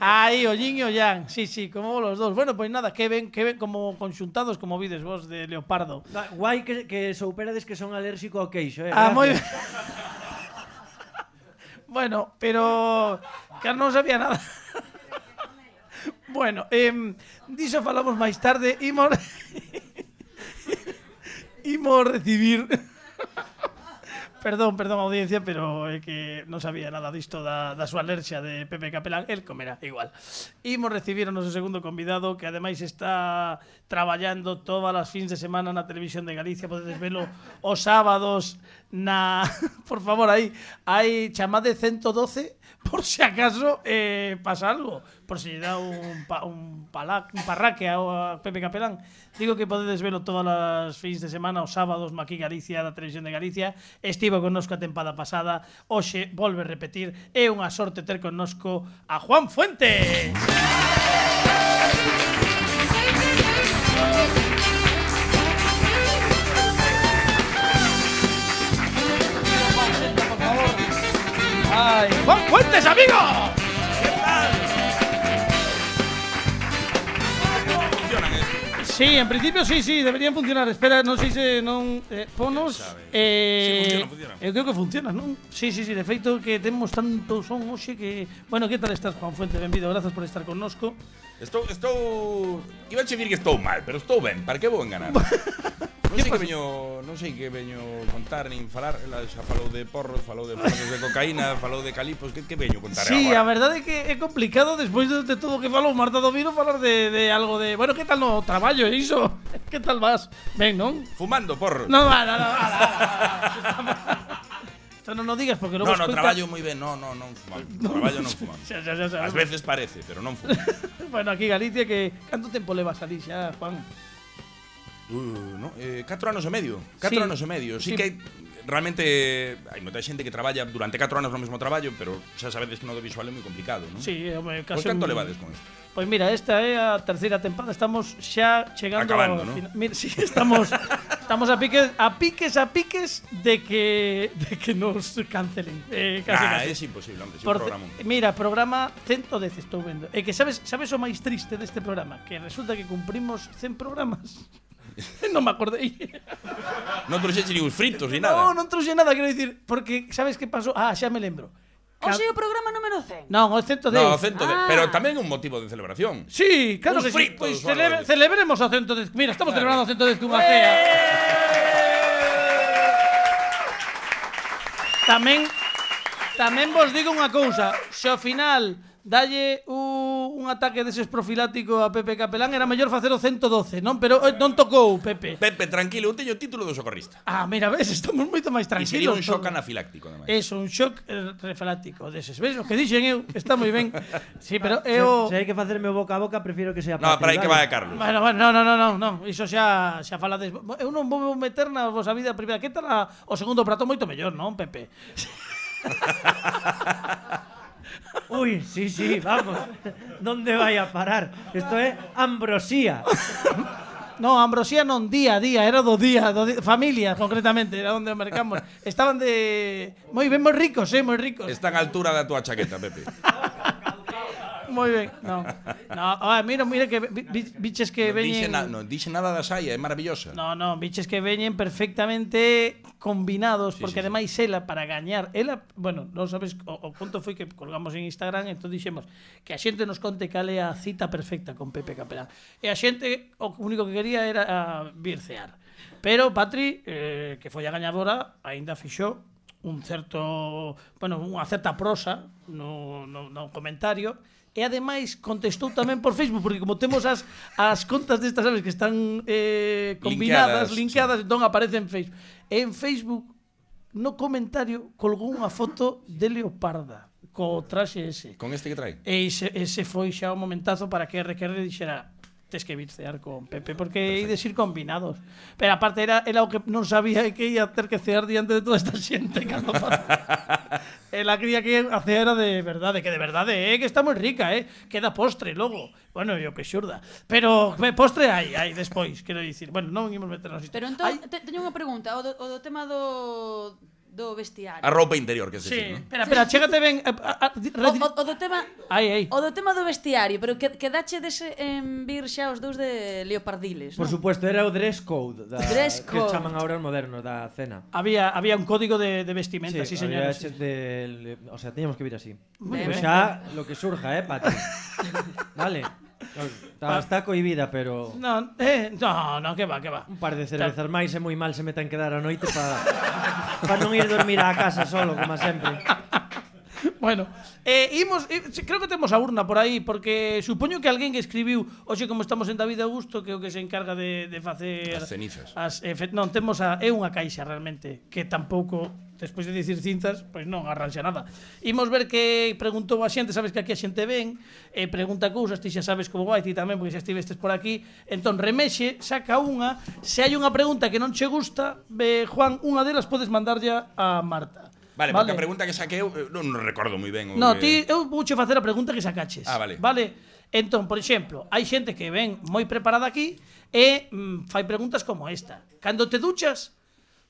Speaker 2: Aí, o yin e o yang, sí, como los dos. Bueno, pois nada, que ven como conxuntados, como vides vos, de leopardo.
Speaker 8: Guai que souperades que son alérxico ao queixo,
Speaker 2: moi ben. Bueno, pero... que non sabía nada. Bueno, diso falamos máis tarde. Imos recibir... Perdón, audiencia, pero é que non sabía nada disto da súa alerxia de Pepe Capelán. El comerá igual. Imos recibir o noso segundo convidado, que ademais está traballando todas as fins de semana na televisión de Galicia. Podedes velo os sábados por favor, aí chamade 112 por si acaso pasa algo, por si dá un parraque a Pepe Capelán. Digo que podedes velo todas as fins de semana, os sábados, aquí Galicia, da Televisión de Galicia. Estivo connosco a tempada pasada, hoxe volve a repetir. É unha sorte ter connosco a Juan Fuentes. ¡Ay, Juan Fuentes, amigo! ¿Qué tal?
Speaker 9: Funcionan,
Speaker 2: Sí, en principio sí, deberían funcionar. Espera, non sei se non ponos.
Speaker 9: Sí, funciona.
Speaker 2: Eu creo que funciona, non? Sí, de feito que temos tanto son hoxe que... Bueno, que tal estás, Juan Fuentes? Benvido, grazas por estar connosco.
Speaker 9: Estou... Iba a dicir que estou mal, pero estou ben. Para que vou enganar? Non sei que veño contar nin falar. Ela xa falou de porros, falou de cocaína, falou de calipos. Que veño contar agora?
Speaker 2: Sí, a verdade é que é complicado despois de todo o que falou Marta Domino falar de algo de... Bueno, que tal no traballo, iso? Que tal vas? Ben, non?
Speaker 9: Fumando porros.
Speaker 2: No. Esto non o digas porque logo
Speaker 9: No, traballo moi ben. Non fumamos. Traballo non fumamos.
Speaker 2: Xa.
Speaker 9: Ás veces parece, pero non fumamos.
Speaker 2: Bueno, aquí Galicia, que canto tempo levas ali xa, Juan?
Speaker 9: 4 anos e medio. 4 anos e medio. Sí que realmente hai moita xente que traballa durante 4 anos no mesmo traballo, pero xa sabedes que no audiovisual é moi complicado, non?
Speaker 2: Sí, home, casi.
Speaker 9: Pois canto levades con isto?
Speaker 2: Pois mira, esta é a terceira tempada, estamos xa chegando
Speaker 9: acabando,
Speaker 2: ao
Speaker 9: ¿no?
Speaker 2: Mira, sí, estamos a piques de que nos cancelen. Casi.
Speaker 9: É imposible, hombre, sin programa.
Speaker 2: Mira, programa 110 estou vendo. E que sabes o máis triste deste programa, que resulta que cumprimos 100 programas. Non me acordei.
Speaker 9: Non trouxeche ni os fritos ni nada.
Speaker 2: Non trouxe nada, quero dicir, porque sabes que pasou? Xa me lembro.
Speaker 7: Hoxe o programa número 100.
Speaker 2: Non, o 110.
Speaker 9: No, o 110, pero tamén un motivo de celebración.
Speaker 2: Sí, claro
Speaker 9: Uns
Speaker 2: que sí.
Speaker 9: fritos,
Speaker 2: Pois
Speaker 9: o algo.
Speaker 2: celebremos o 110. Mira, estamos celebrando o 110 cunha cea. Tamén vos digo unha cousa, se ao final dalle un ataque deses profilático a Pepe Capelán, era mellor facer o 112, non? Pero non tocou, Pepe.
Speaker 9: Pepe, tranquilo, eu teño o título do socorrista.
Speaker 2: Mira, ves, estamos moito máis
Speaker 9: E sería
Speaker 2: tranquilos.
Speaker 9: un shock anafiláctico, ademais.
Speaker 2: Un shock refalático deses. Ves, o que dixen eu, está moi ben. Sí, pero eu...
Speaker 8: Se hai que facerme boca a boca, prefiro que sea
Speaker 9: No, para aí que vai a Carlos.
Speaker 2: Bueno, non, iso xa falades. Eu non vou meter na vosa vida privada. Que tal o segundo prato moito mellor, non, Pepe?
Speaker 8: Uy, sí, vamos. ¿Dónde vai a parar? Esto é ambrosía.
Speaker 2: No, ambrosía non, día a día, era do día, familia, concretamente, era onde mercamos. Estaban moi ben, moi ricos, moi ricos.
Speaker 9: Está a altura da túa chaqueta, Pepe.
Speaker 2: Moi ben, non. Mira que biches que veñen...
Speaker 9: Non dixe nada da saia, é maravillosa.
Speaker 2: Non, biches que veñen perfectamente combinados, porque ademais ela, para gañar, bueno, non sabes, o conto foi que colgamos en Instagram, entón dixemos que a xente nos conte cal é a cita perfecta con Pepe Capelán. E a xente, o único que quería era vircear. Pero Patri, que foi a gañadora, aínda fixou unha certa prosa no comentario. E ademais contestou tamén por Facebook, porque como temos as contas destas, sabes, que están combinadas, linkadas, entón aparece en Facebook. E en Facebook, no comentario, colgou unha foto de Leoparda, co traxe ese.
Speaker 9: Con este que trae?
Speaker 2: E ese foi xa o momentazo para que RQR dixera: tes que vircear con Pepe, porque ides ir combinados. Pero aparte era o que non sabía que ia ter que cear diante de toda esta xente. Ela creía que a cea era de verdade, que está moi rica, queda postre logo. Bueno, yo que xurda. Pero postre hai despois, quero dicir. Bueno, non imos meternos isto.
Speaker 7: Pero entón, teño unha pregunta, o do tema do vestiario.
Speaker 9: A roupa interior, que se
Speaker 2: sí, espera, chégate ben.
Speaker 7: O do tema...
Speaker 2: O
Speaker 7: do tema do vestiario, pero quedache en vir xa os dous de leopardiles,
Speaker 8: Por supuesto, era o dress code, que chaman agora os modernos da cena.
Speaker 2: Había un código de vestimenta, sí, señores.
Speaker 8: O sea, teníamos que vir así.
Speaker 2: Pues
Speaker 8: xa, lo que surja, Pati. Vale. Está cohibida, pero...
Speaker 2: No, que va.
Speaker 8: Un par de cervezas máis é moi mal se metan quedar a noite para non ir dormir á casa solo, como sempre.
Speaker 2: Bueno, creo que temos a urna por aí, porque supoño que alguén que escribiu, hoxe como estamos en David Augusto, que é o que se encarga de facer
Speaker 9: As cenizas.
Speaker 2: Non, temos é unha caixa realmente, que tampouco, despois de dicir cinzas, pois non arranxa nada. Imos ver que preguntou a xente, sabes que aquí a xente ven, pregunta cousas, ti xa sabes como vai, ti tamén, porque xa estivestes por aquí. Entón, remexe, saca unha, se hai unha pregunta que non che gusta, Juan, unha delas podes mandarlle a Marta.
Speaker 9: Vale, porque a pregunta que saquei eu non recordo moi ben.
Speaker 2: No, eu vouche facer a pregunta que sacaches.
Speaker 9: Vale.
Speaker 2: Entón, por exemplo, hai xente que ven moi preparada aquí e fai preguntas como esta. Cando te duchas,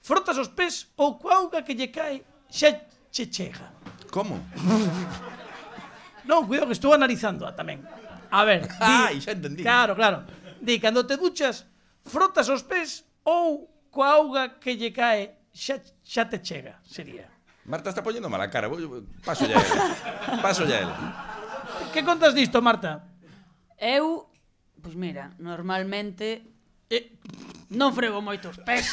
Speaker 2: frotas os pés ou coa auga que lle cae xa che chega?
Speaker 9: Como?
Speaker 2: Non, cuidado que estou analizando tamén. A ver, di,
Speaker 9: xa entendí.
Speaker 2: Claro. Di, cando te duchas, frotas os pés ou coa auga que lle cae xa te chega, sería.
Speaker 9: Marta está poñendo mala cara. Paso ya él.
Speaker 2: Que contas disto, Marta?
Speaker 7: Eu, pois mira, normalmente non frego moito os pés.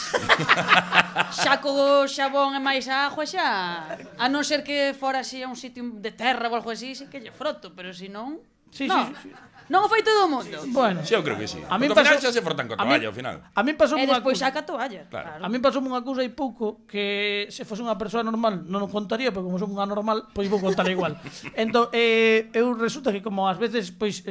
Speaker 7: Xa co xabón e máis a agua xa, a non ser que fora así a un sitio de terra ou algo así, sí que lle froto, pero se non,
Speaker 2: Sí.
Speaker 7: non o fai todo o mundo.
Speaker 2: Bueno,
Speaker 9: Sí, eu creo que sí.
Speaker 2: A min
Speaker 9: Porque ao final
Speaker 2: pasou-
Speaker 9: xa se frotan coa toalla, ao final.
Speaker 2: A min pasou
Speaker 7: E
Speaker 2: unha
Speaker 7: despois
Speaker 2: cousa.
Speaker 7: saca a toalla.
Speaker 9: Claro.
Speaker 2: A min pasou unha cousa hai pouco que se fose unha persoa normal non o contaría, pero como son unha normal, pois vou contar igual. Entón, eu resulta que como ás veces pois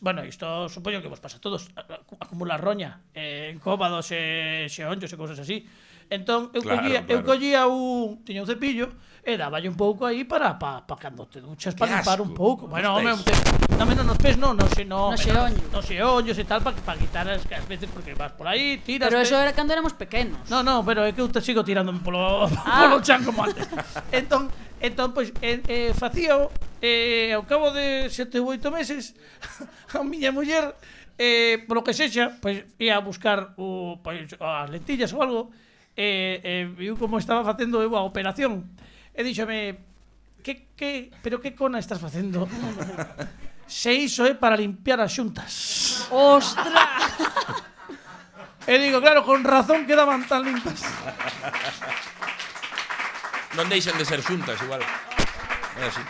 Speaker 2: bueno, isto supoño que vos pasa a todos, acumular roña en cóbados e xeonllos e cousas así. Entón, eu
Speaker 9: Claro.
Speaker 2: collía tiña un cepillo e dáballe un pouco aí para cando te duchas para limpar un
Speaker 9: asco.
Speaker 2: pouco. Bueno, home,
Speaker 9: Nos pés.
Speaker 2: nos pés non,
Speaker 7: No xeonllo.
Speaker 2: nos xeonllos e tal, para quitar as veces porque vas por aí, tiras.
Speaker 7: Pero eso era cando éramos pequenos.
Speaker 2: No, pero é que eu te sigo tirándome polo chan como antes. Entón, pois, facíao, ao cabo de 7 ou 8 meses, a miña muller, polo que sexa, pois, ia a buscar as lentillas ou algo, viu como estaba facendo eu a operación, e díxome, pero que cona estás facendo? Se iso é para limpiar as xuntas.
Speaker 7: Ostras!
Speaker 2: E digo, claro, con razón quedaban tan limpas.
Speaker 9: Non deixen de ser xuntas, igual. É así.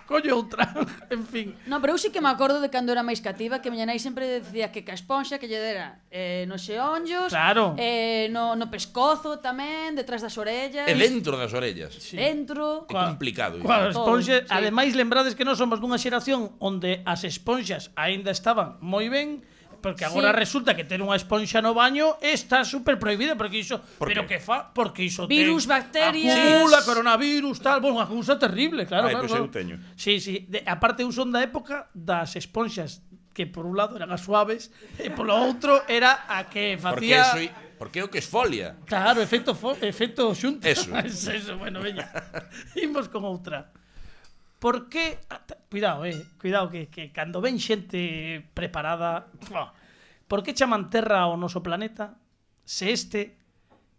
Speaker 2: Coño outra, en fin.
Speaker 7: No, pero eu sí que me acordo de cando era máis cativa que miña nai sempre decía que ca esponxa que lle dera nos xeonllos,
Speaker 2: Claro.
Speaker 7: no pescozo tamén, detrás das orellas,
Speaker 9: E dentro das orellas.
Speaker 7: dentro.
Speaker 9: É complicado.
Speaker 2: Coas
Speaker 7: Todo,
Speaker 2: esponxas,
Speaker 7: sí.
Speaker 2: ademais lembrades que nós somos dunha xeración onde as esponxas aínda estaban moi ben, porque agora
Speaker 7: Sí.
Speaker 2: resulta que ter unha esponxa no baño está super prohibida, porque iso,
Speaker 9: Por
Speaker 2: pero
Speaker 9: qué?
Speaker 2: que porque iso
Speaker 7: Virus,
Speaker 2: ten,
Speaker 7: bacterias.
Speaker 2: acumula coronavirus, tal, bueno, unha cousa terrible, claro,
Speaker 9: Ai,
Speaker 2: claro.
Speaker 9: pois eu
Speaker 2: claro.
Speaker 9: teño.
Speaker 2: Sí, aparte eu son da época das esponxas que por un lado eran as suaves e polo outro era a que facía
Speaker 9: Porque é o que esfolia.
Speaker 2: Claro, efecto xunta.
Speaker 9: Eso.
Speaker 2: Eso, bueno, veña. Imos con outra. Por que... Cuidado, que cando ven xente preparada... Por que chaman Terra ao noso planeta se este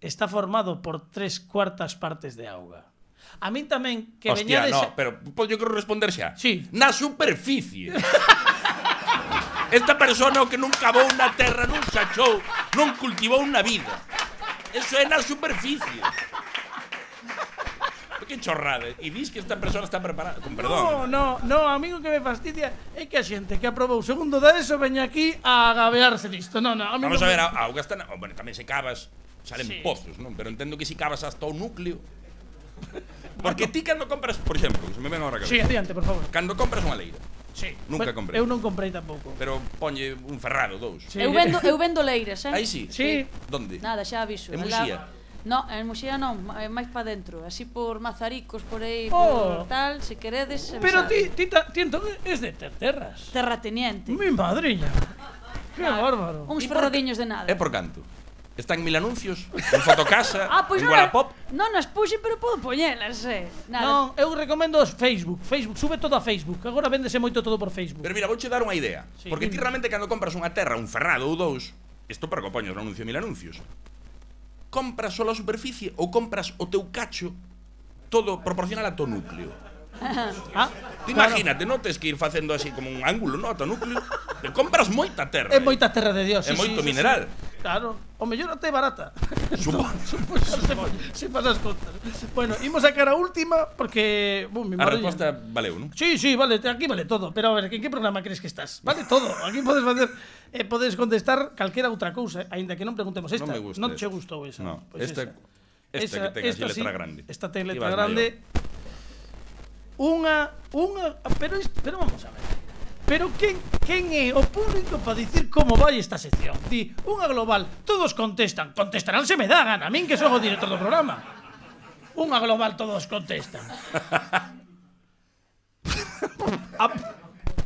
Speaker 2: está formado por 3/4 partes de auga? A min tamén que
Speaker 9: Hostia,
Speaker 2: veñades...
Speaker 9: no, pero yo quero responder xa.
Speaker 2: Sí.
Speaker 9: Na superficie. Esta persona o que non cavou na terra, non sachou, non cultivou na vida. Eso é na superficie. Que chorrada. E dis que esta persona está preparada. Con perdón.
Speaker 2: No, a mí o que me fastidia é que a xente que aprobou segundo da ESO veña aquí a agabearse disto. No, a mí
Speaker 9: Vamos
Speaker 2: non
Speaker 9: a ver,
Speaker 2: me-
Speaker 9: a auga está... Bueno, tamén se cavas, salen
Speaker 2: Sí.
Speaker 9: pozos, non? Pero entendo que si cavas hasta o núcleo. Porque ti cando compras, por exemplo, se me ven ahora a
Speaker 2: Sí,
Speaker 9: cabeza.
Speaker 2: adiante, por favor.
Speaker 9: Cando compras unha leira,
Speaker 2: Sí.
Speaker 9: Nunca
Speaker 2: Bueno,
Speaker 9: comprei.
Speaker 2: Eu non comprei tampouco.
Speaker 9: pero ponlle un ferrado, dous.
Speaker 2: Sí.
Speaker 7: Eu vendo leiras,
Speaker 9: Aí sí.
Speaker 2: Sí.
Speaker 9: Donde?
Speaker 7: Nada, xa aviso.
Speaker 9: En
Speaker 7: Alá-
Speaker 9: Muxía?
Speaker 7: No, en Muxía non, máis pa dentro, así por Mazaricos, por aí,
Speaker 2: Oh.
Speaker 7: por tal, se queredes.
Speaker 2: Pero
Speaker 7: avisade.
Speaker 2: ti entón es de terras.
Speaker 7: Terrateniente.
Speaker 2: Mi madriña. Que bárbaro.
Speaker 7: Uns ferradiños de nada.
Speaker 9: É por canto? Está en 1000 anuncios, en Fotocasa,
Speaker 7: Pois
Speaker 9: en
Speaker 7: non,
Speaker 9: Wallapop.
Speaker 7: non as puxe, pero podo poñelas, Nada.
Speaker 2: Non, eu recomendo os Facebook, sube todo a Facebook. Agora véndese moito todo por Facebook.
Speaker 9: Pero mira, vouche dar unha idea.
Speaker 2: Sí.
Speaker 9: Porque ti realmente cando compras unha terra, un ferrado ou dous, isto para que o poñas no anuncio de 1000 anuncios. Compras só a superficie ou compras o teu cacho todo proporcional a teu núcleo. Ti imagínate, non tes que ir facendo así como un ángulo, no, a teu núcleo. Te compras moita terra.
Speaker 2: É moita terra de Dios.
Speaker 9: É
Speaker 2: sí,
Speaker 9: moito
Speaker 2: sí,
Speaker 9: mineral.
Speaker 2: Claro, o mellor até barata.
Speaker 9: Supoño.
Speaker 2: Se pasas contas. Bueno, imos a cara última porque...
Speaker 9: A resposta valeu, non?
Speaker 2: Sí, vale, aquí vale todo. Pero a ver, en que programa crees que estás? Vale todo. Aquí podes facer... podes contestar calquera outra cousa, aínda que non preguntemos esta.
Speaker 9: Non me gusta.
Speaker 2: Non che gustou esa.
Speaker 9: No,
Speaker 2: Pois
Speaker 9: esta que ten así letra grande.
Speaker 2: Esta ten letra
Speaker 9: Ibas
Speaker 2: grande. Pero vamos a ver. Pero quen é o público para dicir como vai esta sección? Di, unha global, todos contestan. Contestarán se me dá gana, a min que son o director do programa. Unha global, todos contestan.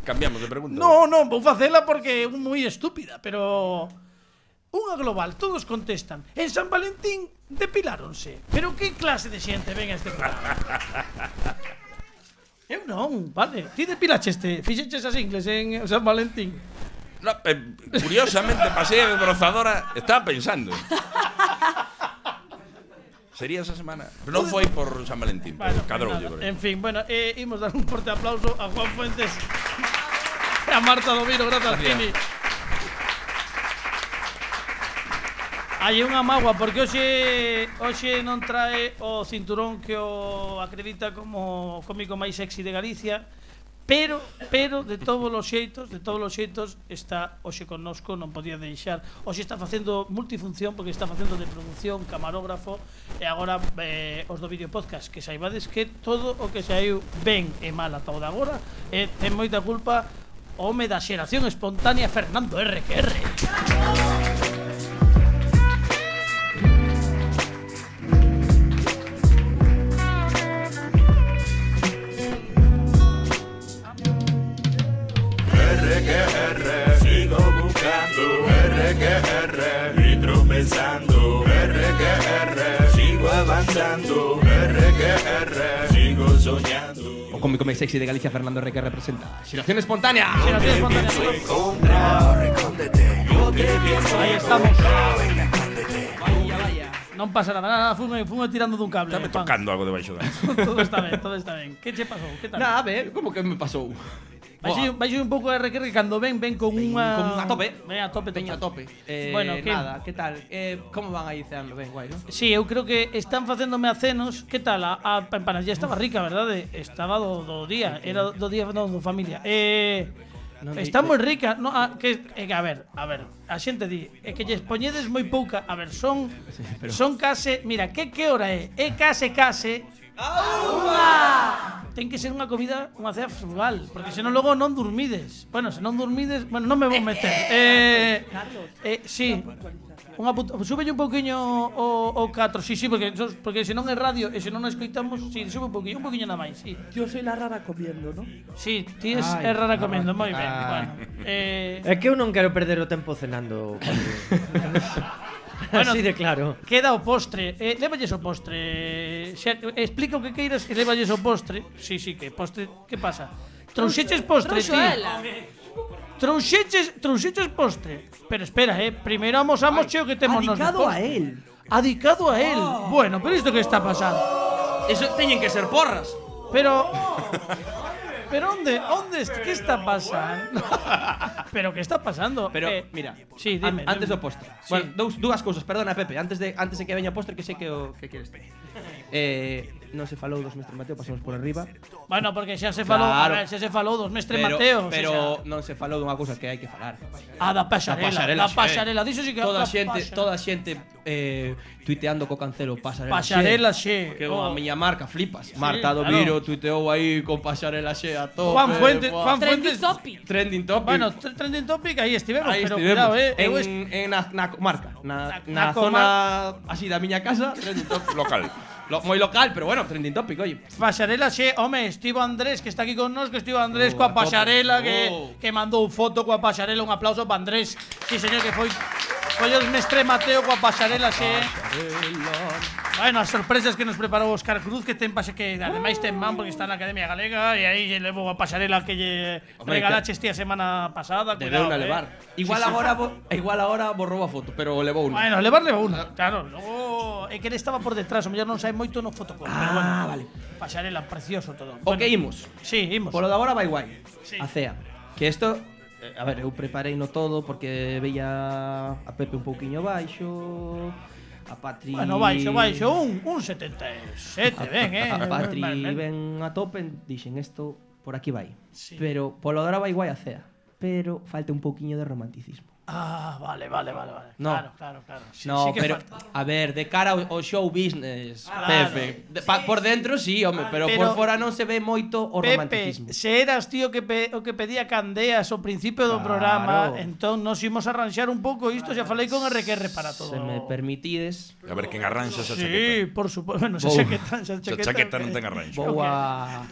Speaker 9: Cambiamos de pregunta.
Speaker 2: Non, vou facela porque é moi estúpida, pero... Unha global, todos contestan. En San Valentín depiláronse. Pero que clase de xente ven a este programa? Eu non, vale. Ti depilaches fixeches as ingles en San Valentín.
Speaker 9: No, curiosamente, pasei a desbrozadora. Estaba pensando. Sería esa semana. Non foi por San Valentín, pero cadroulle.
Speaker 2: En fin, bueno, imos dar un forte aplauso a Juan Fuentes e a Marta Domiro, grazas, Kini. Hai unha mágoa porque hoxe non trae o cinturón que o acredita como cómico máis sexy de Galicia, pero de todos os xeitos está hoxe connosco, non podía deixar. Hoxe está facendo multifunción porque está facendo de producción, camarógrafo e agora os do vídeo podcast, que saibades que todo o que saiu ben e mal ata o de agora ten moita culpa o home da xeración espontánea Fernando RQR.
Speaker 10: Sigo buscando RQR, y tropezando RQR, sigo avanzando RQR, sigo soñando.
Speaker 11: O cómico máis sexy de Galicia, Fernando RQR representa Xeración Espontánea.
Speaker 2: Xeración Espontánea. Aí estamos. Vaya. Non pasa nada, fume tirando dun cable.
Speaker 9: Estame tocando algo debaixo da.
Speaker 2: Todo está ben. Que che pasou? Que tal?
Speaker 11: Nada, a ver, como que me pasou?
Speaker 2: Vai un pouco de RQR cando ven con unha...
Speaker 11: Con unha tope.
Speaker 2: Ven a tope.
Speaker 11: Veño a tope.
Speaker 2: Bueno,
Speaker 11: nada, que tal? Como van aí ceando? Ben, guai, non?
Speaker 2: Sí, eu creo que están facéndome acenos. Que tal? A empanadilla estaba rica, verdade? Estaba do día. Era do día do familia. Está moi rica. No, a ver, a xente di que lles poñedes moi pouca. A ver, son case... Mira, que hora é? É case... Ten que ser unha comida, unha cea frugal, porque senón logo non dormides. Bueno, se non dormides, bueno, non me vou meter. Sí. Súbelle un pouquiño o 4, sí, porque senón é radio e senón non escoitamos, sí, sube un pouquiño nada máis, sí.
Speaker 3: Yo soy la rara comiendo, ¿no?
Speaker 2: Sí, ti es rara comiendo, moi ben. Bueno,
Speaker 8: é que eu non quero perder o tempo cenando. Bueno, así de claro.
Speaker 2: Queda o postre. Lévalles o postre. Explica o que queiras e lévalles o postre. Sí, que postre. Que pasa? Trouxeches postre, ti. Trouxeches postre. Pero espera, primeiro amosamos o que temos nos
Speaker 3: postre. Adicado a él.
Speaker 2: Adicado a él. Bueno, pero isto que está pasando?
Speaker 11: Eso teñen que ser porras.
Speaker 2: Pero onde que está pasando? Pero que está pasando?
Speaker 11: Pero mira,
Speaker 2: sí, dime,
Speaker 11: antes do postre. Sí. Bueno, dúas cousas, perdona, Pepe, antes de que veña o postre, que sei que queres ter. Non se falou dos Mestre Mateo, pasamos por arriba.
Speaker 2: Bueno, porque xa se falou, claro. A ver, xa se falou dos Mestre Mateo,
Speaker 11: pero non se falou dunha cousa que hai que falar.
Speaker 2: Da pasarela, diso si que
Speaker 11: toda a xente tuiteando co Cancelo
Speaker 2: pasarela xe.
Speaker 11: Que a miña marca flipas. Marta Domiro tuiteou aí con pasarela xe a tope.
Speaker 2: Juan Fuentes,
Speaker 11: Trending Topic.
Speaker 2: Bueno, Trending Topic aí estivemos, pero cuidado,
Speaker 11: na marca, na zona así da miña casa, Trending Topic
Speaker 9: local.
Speaker 11: Moi local, pero bueno, Trending Topic, oye.
Speaker 2: Pasarela xe, home, Estivo Andrés, que está aquí con nos, que Estivo Andrés coa pasarela, que mandou foto coa pasarela, un aplauso para Andrés. Sí, señor, que foi os Mestre Mateo coa pasarela xe. Bueno, as sorpresas que nos preparou Óscar Cruz, que ten pase que ademais ten man porque está na Academia Galega e aí lle levo a pasarela que lle regalaches ti a semana pasada.
Speaker 11: Debeu na levar. Igual agora borrou a foto, pero levou unha.
Speaker 2: Bueno, levou unha, claro. Logo é que ele estaba por detrás, o mellor non sabe moito no fotocol. Pero bueno,
Speaker 11: vale.
Speaker 2: Pasarela, precioso todo.
Speaker 11: O que imos?
Speaker 2: Sí, imos.
Speaker 11: Polo de agora vai guai. A cea. Que isto A ver, eu preparei no todo porque veía a Pepe un pouquiño baixo, a Patri...
Speaker 2: Bueno, baixo, un 77, ben,
Speaker 11: A Patri ben a tope, dixen isto, por aquí vai.
Speaker 2: Sí.
Speaker 11: Pero polo de ahora vai guai a cea. Pero falta un pouquiño de romanticismo.
Speaker 2: Ah, vale.
Speaker 11: No.
Speaker 2: Claro. Sí,
Speaker 11: No,
Speaker 2: sí que
Speaker 11: pero,
Speaker 2: falta.
Speaker 11: a ver, de cara ao show business,
Speaker 2: Claro.
Speaker 11: Pepe. Por dentro sí, home, pero por fora non se ve moito o romanticismo.
Speaker 2: Pepe, se eras tío que o que pedía Candeas ao principio do programa, entón nos imos arranxar un pouco isto, xa falei con RQR para todo.
Speaker 11: Se me permitides...
Speaker 9: A ver quen arranxa esa
Speaker 2: Sí,
Speaker 9: chaqueta.
Speaker 2: por suposto. Bueno, esa
Speaker 9: Esa chaqueta non ten arranxo.
Speaker 11: Vou a...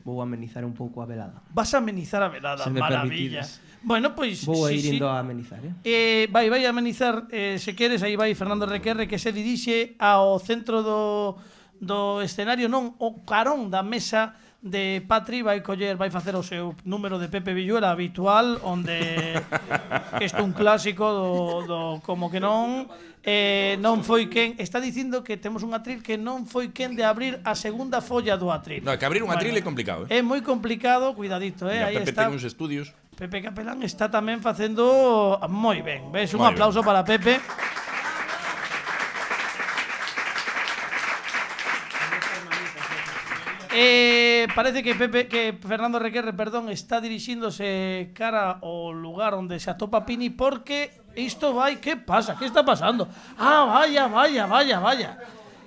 Speaker 11: Vou amenizar un pouco a velada.
Speaker 2: Vas a amenizar a velada,
Speaker 11: Se me
Speaker 2: maravilla.
Speaker 11: permitides.
Speaker 2: Bueno, pois
Speaker 11: Vou a
Speaker 2: sí,
Speaker 11: ir indo
Speaker 2: sí.
Speaker 11: a amenizar,
Speaker 2: Vai a amenizar, se queres, aí vai Fernando RQR, que se dirixe ao centro do escenario, non, o carón da mesa de Patri, vai facer o seu número de Pepe Villuela habitual, onde isto é un clásico do como que non foi quen, está dicindo que temos un atril que non foi quen de abrir a segunda folla do atril.
Speaker 9: No, que abrir un atril é complicado,
Speaker 2: É moi complicado, cuidadito,
Speaker 9: Mira,
Speaker 2: aí
Speaker 9: Pepe
Speaker 2: está.
Speaker 9: ten uns estudios.
Speaker 2: Pepe Capelán está tamén facendo moi ben. Ves, un aplauso para Pepe. Parece que Fernando Requerre, perdón, está dirixíndose cara ao lugar onde se atopa Pini porque isto vai, que pasa? Que está pasando? Ah, vaya.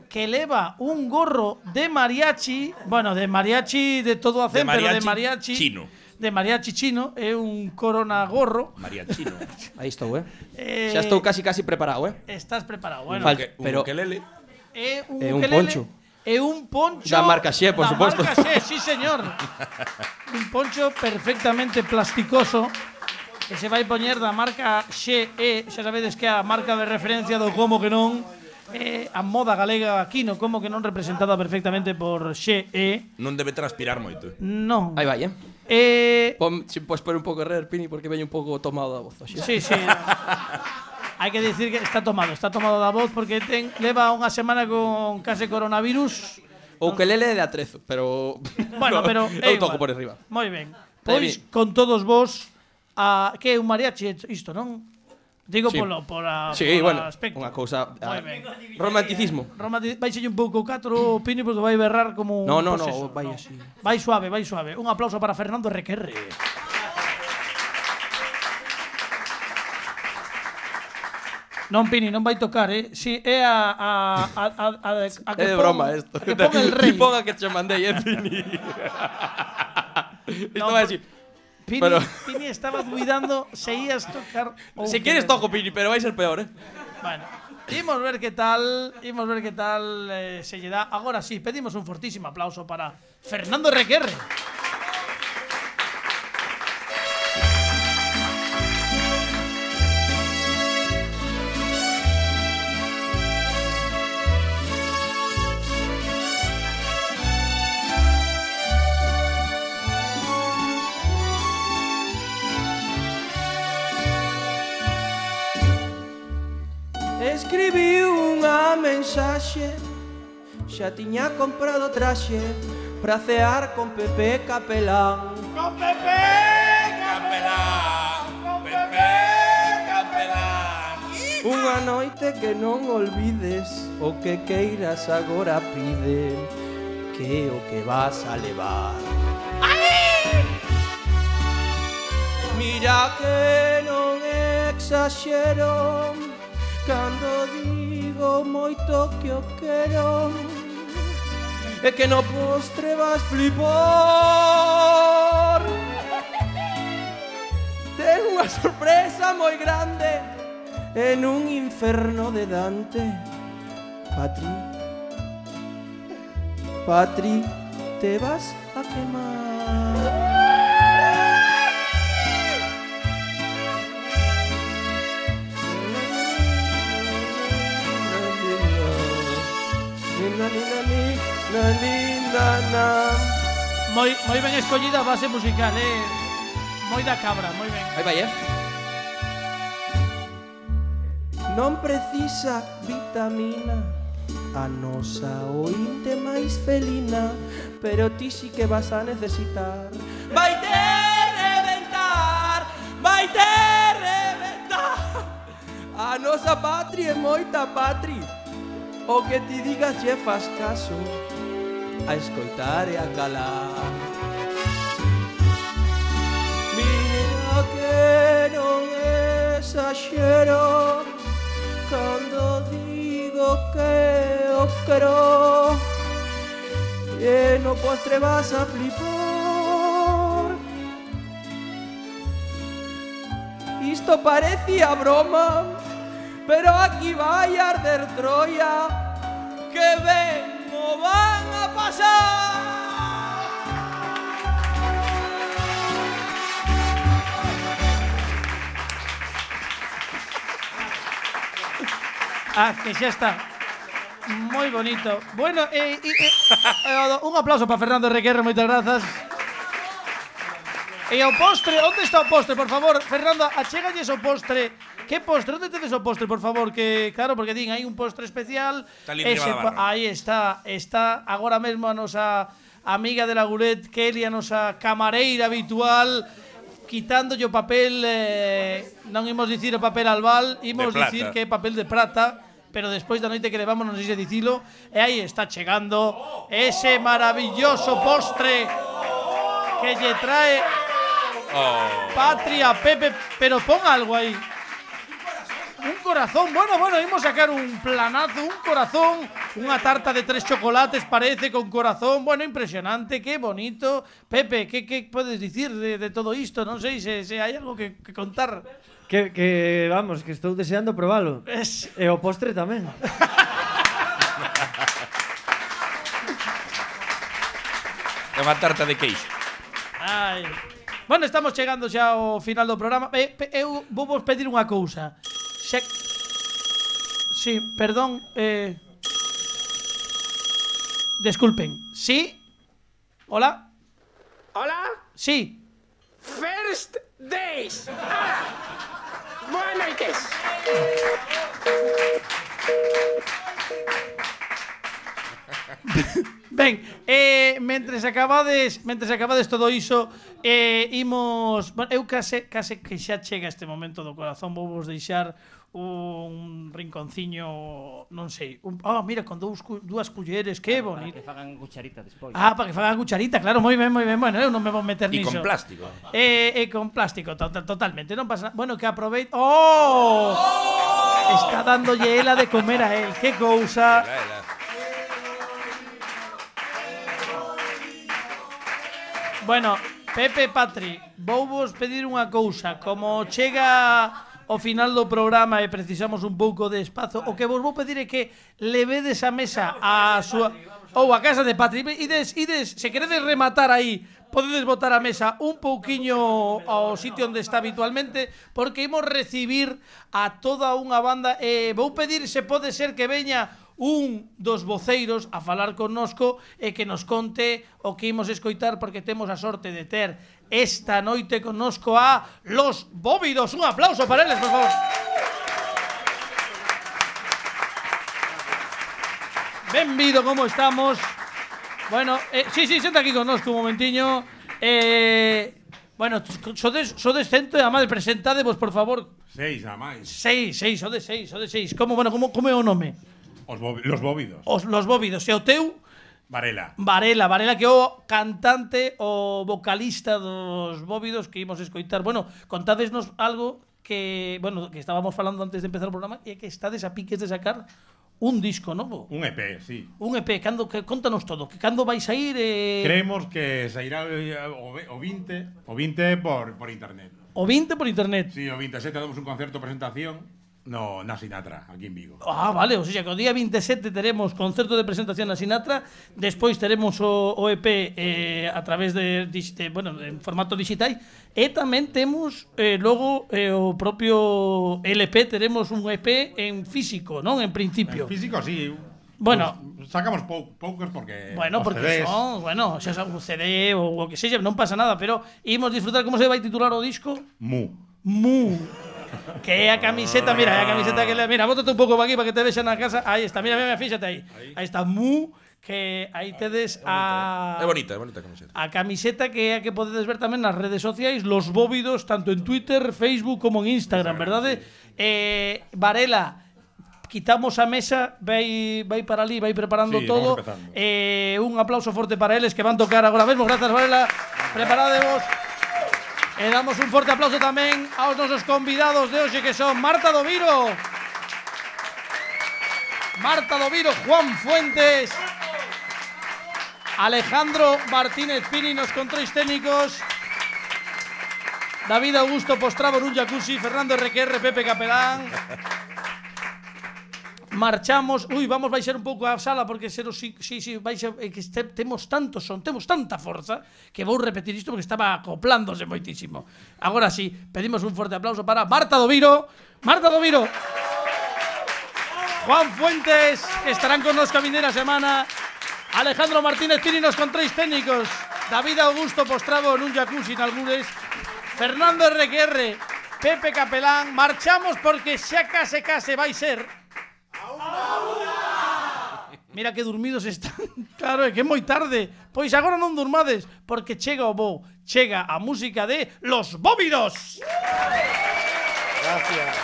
Speaker 2: Que leva un gorro de mariachi, bueno, de mariachi de todo a cen, pero de mariachi
Speaker 9: chino.
Speaker 2: De mariachi chino, é un corona gorro.
Speaker 9: Mariachino.
Speaker 11: Aí estou, Xa estou casi preparado,
Speaker 2: Estás preparado, bueno.
Speaker 9: Pero ukelele.
Speaker 2: É un
Speaker 11: un
Speaker 2: ukelele.
Speaker 11: poncho.
Speaker 2: É un poncho
Speaker 11: Da marca Xe, por suposto.
Speaker 2: Da marca Xe, sí, señor. Un poncho perfectamente plasticoso que se vai poñer da marca Xe, xa sabedes que é a marca de referencia do como que non, a moda galega aquí no como que non representada perfectamente por Xe.
Speaker 9: Non debe transpirar moito.
Speaker 2: Non.
Speaker 11: Aí vai,
Speaker 12: Si podes poner un pouco de rer, Pini, porque veño un pouco tomado da voz hoxe.
Speaker 2: Sí. Hai que dicir que está tomado da voz porque leva unha semana con case coronavirus.
Speaker 12: O ukelele de atrezo, pero...
Speaker 2: Bueno, pero
Speaker 12: eu toco por arriba.
Speaker 2: Moi ben. Pois con todos vos que é un mariachi isto, non? Digo
Speaker 12: Sí.
Speaker 2: por
Speaker 12: bueno,
Speaker 2: aspecto.
Speaker 12: unha cousa...
Speaker 2: Moi ben.
Speaker 12: Romanticismo.
Speaker 2: Vaixelle un pouco 4 Pini porque vai berrar como
Speaker 12: No,
Speaker 2: poseso.
Speaker 12: vai así.
Speaker 2: Vai suave. Un aplauso para Fernando Requerre. Non, Pini, non vai tocar, Si, é a que
Speaker 12: É de
Speaker 2: pon-
Speaker 12: broma isto.
Speaker 2: a que pon el rei.
Speaker 12: Ti ponga que che mandei, Pini. Isto
Speaker 2: No,
Speaker 12: vai así.
Speaker 2: Pini,
Speaker 12: Pero-
Speaker 2: Pini estaba duidando se ías tocar ou
Speaker 12: Si
Speaker 2: que
Speaker 12: quieres
Speaker 2: non.
Speaker 12: toco, Pini, pero vai ser peor,
Speaker 2: Bueno, imos ver que tal se lle dá. Agora sí, pedimos un fortísimo aplauso para Fernando Requerre.
Speaker 11: Escribí unha mensaxe, xa tiña comprado traxe pra cear con Pepe Capelán.
Speaker 2: ¡Con Pepe
Speaker 9: Capelán! Pepe Capelán!
Speaker 11: Unha noite que non olvides, o que queiras agora pide, que é o que vas a levar. Mira que non exaxero cando digo moito que o quero, e que no postre vas flipar. Ten unha sorpresa moi grande en un inferno de Dante. Patri, te vas a quemar.
Speaker 2: Moi ben escollida a base musical, moi da cabra, moi ben.
Speaker 12: Aí vai,
Speaker 11: Non precisa vitamina a nosa ointe máis felina, pero ti sí que vas a necesitar. Vai ter vai ter reventar. A nosa patria é moita patria. O que ti digas lle faz caso, a escoitar e a calar. Mira que non exagero cando digo que o quero, e no postre vas a flipar. Isto parecía broma, pero aquí vai arder Troia, que ben o van a pasar.
Speaker 2: Ah, que xa está. Moi bonito. Bueno, un aplauso para Fernando Requerre, moitas grazas. E o postre, onde está o postre, por favor? Fernando, achégalles o postre. Que postre? Onde tedes o postre, por favor? Que claro, porque din, hai un postre especial.
Speaker 9: Está ali arriba da barra.
Speaker 2: Aí está, está agora mesmo a nosa amiga de la Gulet, Kelly, a nosa camareira habitual, quitándolle o papel, non imos dicir o papel albal, imos dicir que é papel de prata. Pero despois da noite que levamos, non sei se dicilo, e aí está chegando ese maravilloso postre que lle trae Patria Pepe, pero pon algo aí. Un corazón, bueno, imos sacar un planazo, un corazón, unha tarta de 3 chocolates parece con corazón, bueno, impresionante, qué bonito. Pepe, que podes dicir de todo isto? Non sei se hai algo que contar.
Speaker 8: Que vamos, que estou deseando probalo. E o postre tamén.
Speaker 9: É unha tarta de queixo.
Speaker 2: Ai. Bueno, estamos chegando xa ao final do programa. Eu vou vos pedir unha cousa. Sí, perdón. Disculpen. Sí? Hola?
Speaker 6: Hola?
Speaker 2: Sí.
Speaker 6: First days. Boas noites.
Speaker 2: Ben, mentres acabades todo iso, imos, bueno, eu case que xa chega este momento do corazón, vou vos deixar un rinconciño, non sei, mira, con dúas culleres, que bonito.
Speaker 4: Para que fagan cucharita despois.
Speaker 2: Para que fagan cucharita, claro, moi ben, bueno, eu non me vou meter niso.
Speaker 9: E con plástico.
Speaker 2: Con plástico, totalmente, non pasa nada. Bueno, que aproveite. Está dándolle ela de comer a él, que cousa. Bueno, Pepe, Patri, vou vos pedir unha cousa. Como chega ao final do programa e precisamos un pouco de espazo, o que vos vou pedir é que levedes a mesa a súa ou a casa de Patri. Ides, se queredes rematar aí, podedes botar a mesa un pouquiño ao sitio onde está habitualmente, porque imos recibir a toda unha banda e vou pedir se pode ser que veña un dos voceiros a falar connosco e que nos conte o que imos escoitar, porque temos a sorte de ter esta noite connosco a Los Bóvidos. Un aplauso para eles, por favor. Benvido, como estamos? Bueno, sí, senta aquí connosco un momentiño. Bueno, sodes cento e a máis, presentadevos, por favor.
Speaker 13: 6 a máis.
Speaker 2: 6, sodes 6. Como é o nome?
Speaker 13: Los Bóvidos.
Speaker 2: Los Bóvidos. E o teu?
Speaker 13: Varela,
Speaker 2: que é o cantante, o vocalista dos Bóvidos que imos escoitar. Bueno, contádesnos algo que, bueno, que estábamos falando antes de empezar o programa, e que estades a piques de sacar un disco novo.
Speaker 13: Un EP, sí.
Speaker 2: Un EP, contanos todo, que cando vais a ir?
Speaker 13: Creemos que sairá o 20 por internet.
Speaker 2: O 20 por internet?
Speaker 13: Sí, o 27 damos un concerto presentación na Sinatra, aquí en Vigo.
Speaker 2: Vale, o sea que o día 27 teremos concerto de presentación na Sinatra, despois teremos o EP a través bueno, en formato digital, e tamén temos logo o propio LP, teremos un EP en físico, non? En principio.
Speaker 13: En físico, sí.
Speaker 2: Bueno,
Speaker 13: sacamos poucos porque
Speaker 2: porque son, bueno, xa son un CD ou o que sexa, non pasa nada, pero imos disfrutar. Como se vai titular o disco?
Speaker 13: Mu.
Speaker 2: Que é a camiseta, mira, é a camiseta que mira, bótate un pouco aquí para que te vexan na casa. Aí está, mira, fíxate aí. Aí está Mu, que aí tedes a...
Speaker 9: É bonita camiseta.
Speaker 2: A camiseta que é a que podedes ver tamén nas redes sociais, Los Bóvidos, tanto en Twitter, Facebook como en Instagram, verdade? Varela, quitamos a mesa, vai para ali, vai preparando todo. Un aplauso forte para eles que van tocar agora mesmo. Grazas, Varela. Preparadevos. E damos un forte aplauso tamén aos nosos convidados de hoxe, que son Marta Doviro, Juan Fuentes, Alejandro Martínez Pini nos controis técnicos, David Augusto Postravo nun jacuzzi, Fernando RQR, Pepe Capelán. Marchamos. Vamos baixar un pouco a sala porque temos tanto son, temos tanta forza que vou repetir isto porque estaba acoplándose moitísimo. Agora sí, pedimos un forte aplauso para Marta Doviro, Juan Fuentes, que estarán con nos a vindeira semana, Alejandro Martínez Pini nos controis técnicos, David Augusto Postravo nun jacuzzi nalgures, Fernando RQR, Pepe Capelán. Marchamos porque xa case vai ser. Mira que dormidos están. Claro, é que é moi tarde. Pois agora non durmades, porque chega o bo, chega a música de Los Bóvidos.
Speaker 5: Gracias.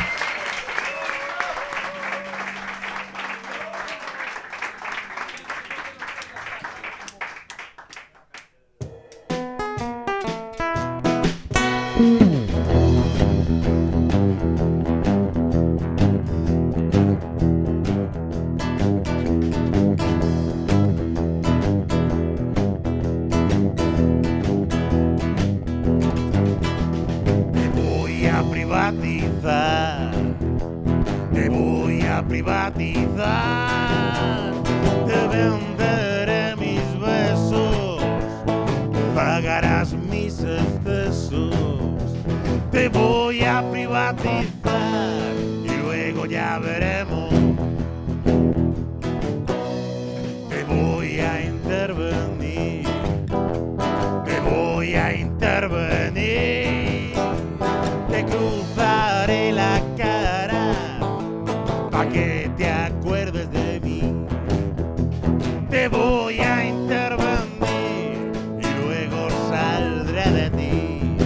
Speaker 10: privatizar, te venderé mis besos, pagarás mis excesos, te voy a privatizar y luego ya veremos, te voy a intervenir, te voy a intervenir, te cruzaré la cara pa' que te acuerdes de mí. Te voy a intervenir y luego saldré de ti.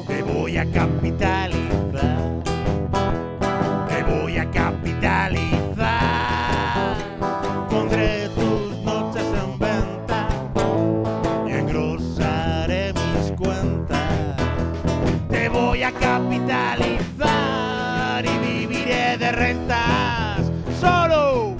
Speaker 10: Te voy a capitalizar. Te voy a capitalizar. Pondré tus noches en venta y engrosaré mis cuentas. Te voy a capitalizar y viviré de rentas solo.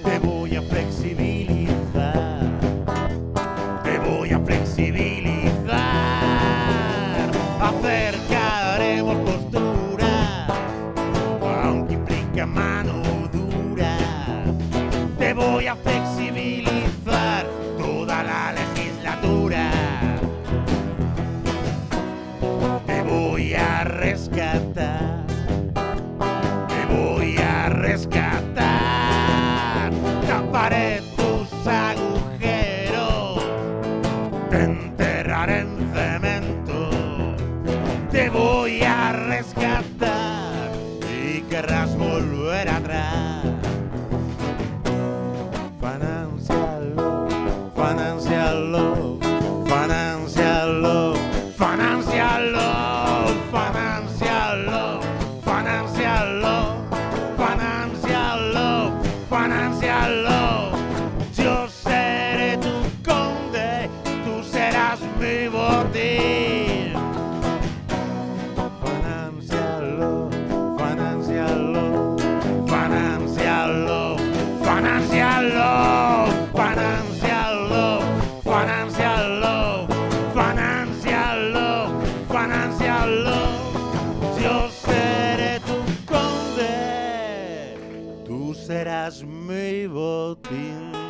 Speaker 10: Te voy a flexibilizar. Te voy a flexibilizar. Acercaremos postura, aunque implica mano dura. Te voy a flexibilizar toda la legislatura. Te voy a rescatar. Te voy a rescatar. Taparé tus agujeros. Te enterraré en cemento. Te voy a rescatar y querrás volver atrás. Financial love, financial love, financial love, financial love, financial love, financial love, financial love, financial love. Yo seré tu conde, tú serás mi botín. Financial love, financial love, financial love, financial love, financial love, financial love, financial love, financial love. Yo seré tu conde, tú serás mi botín.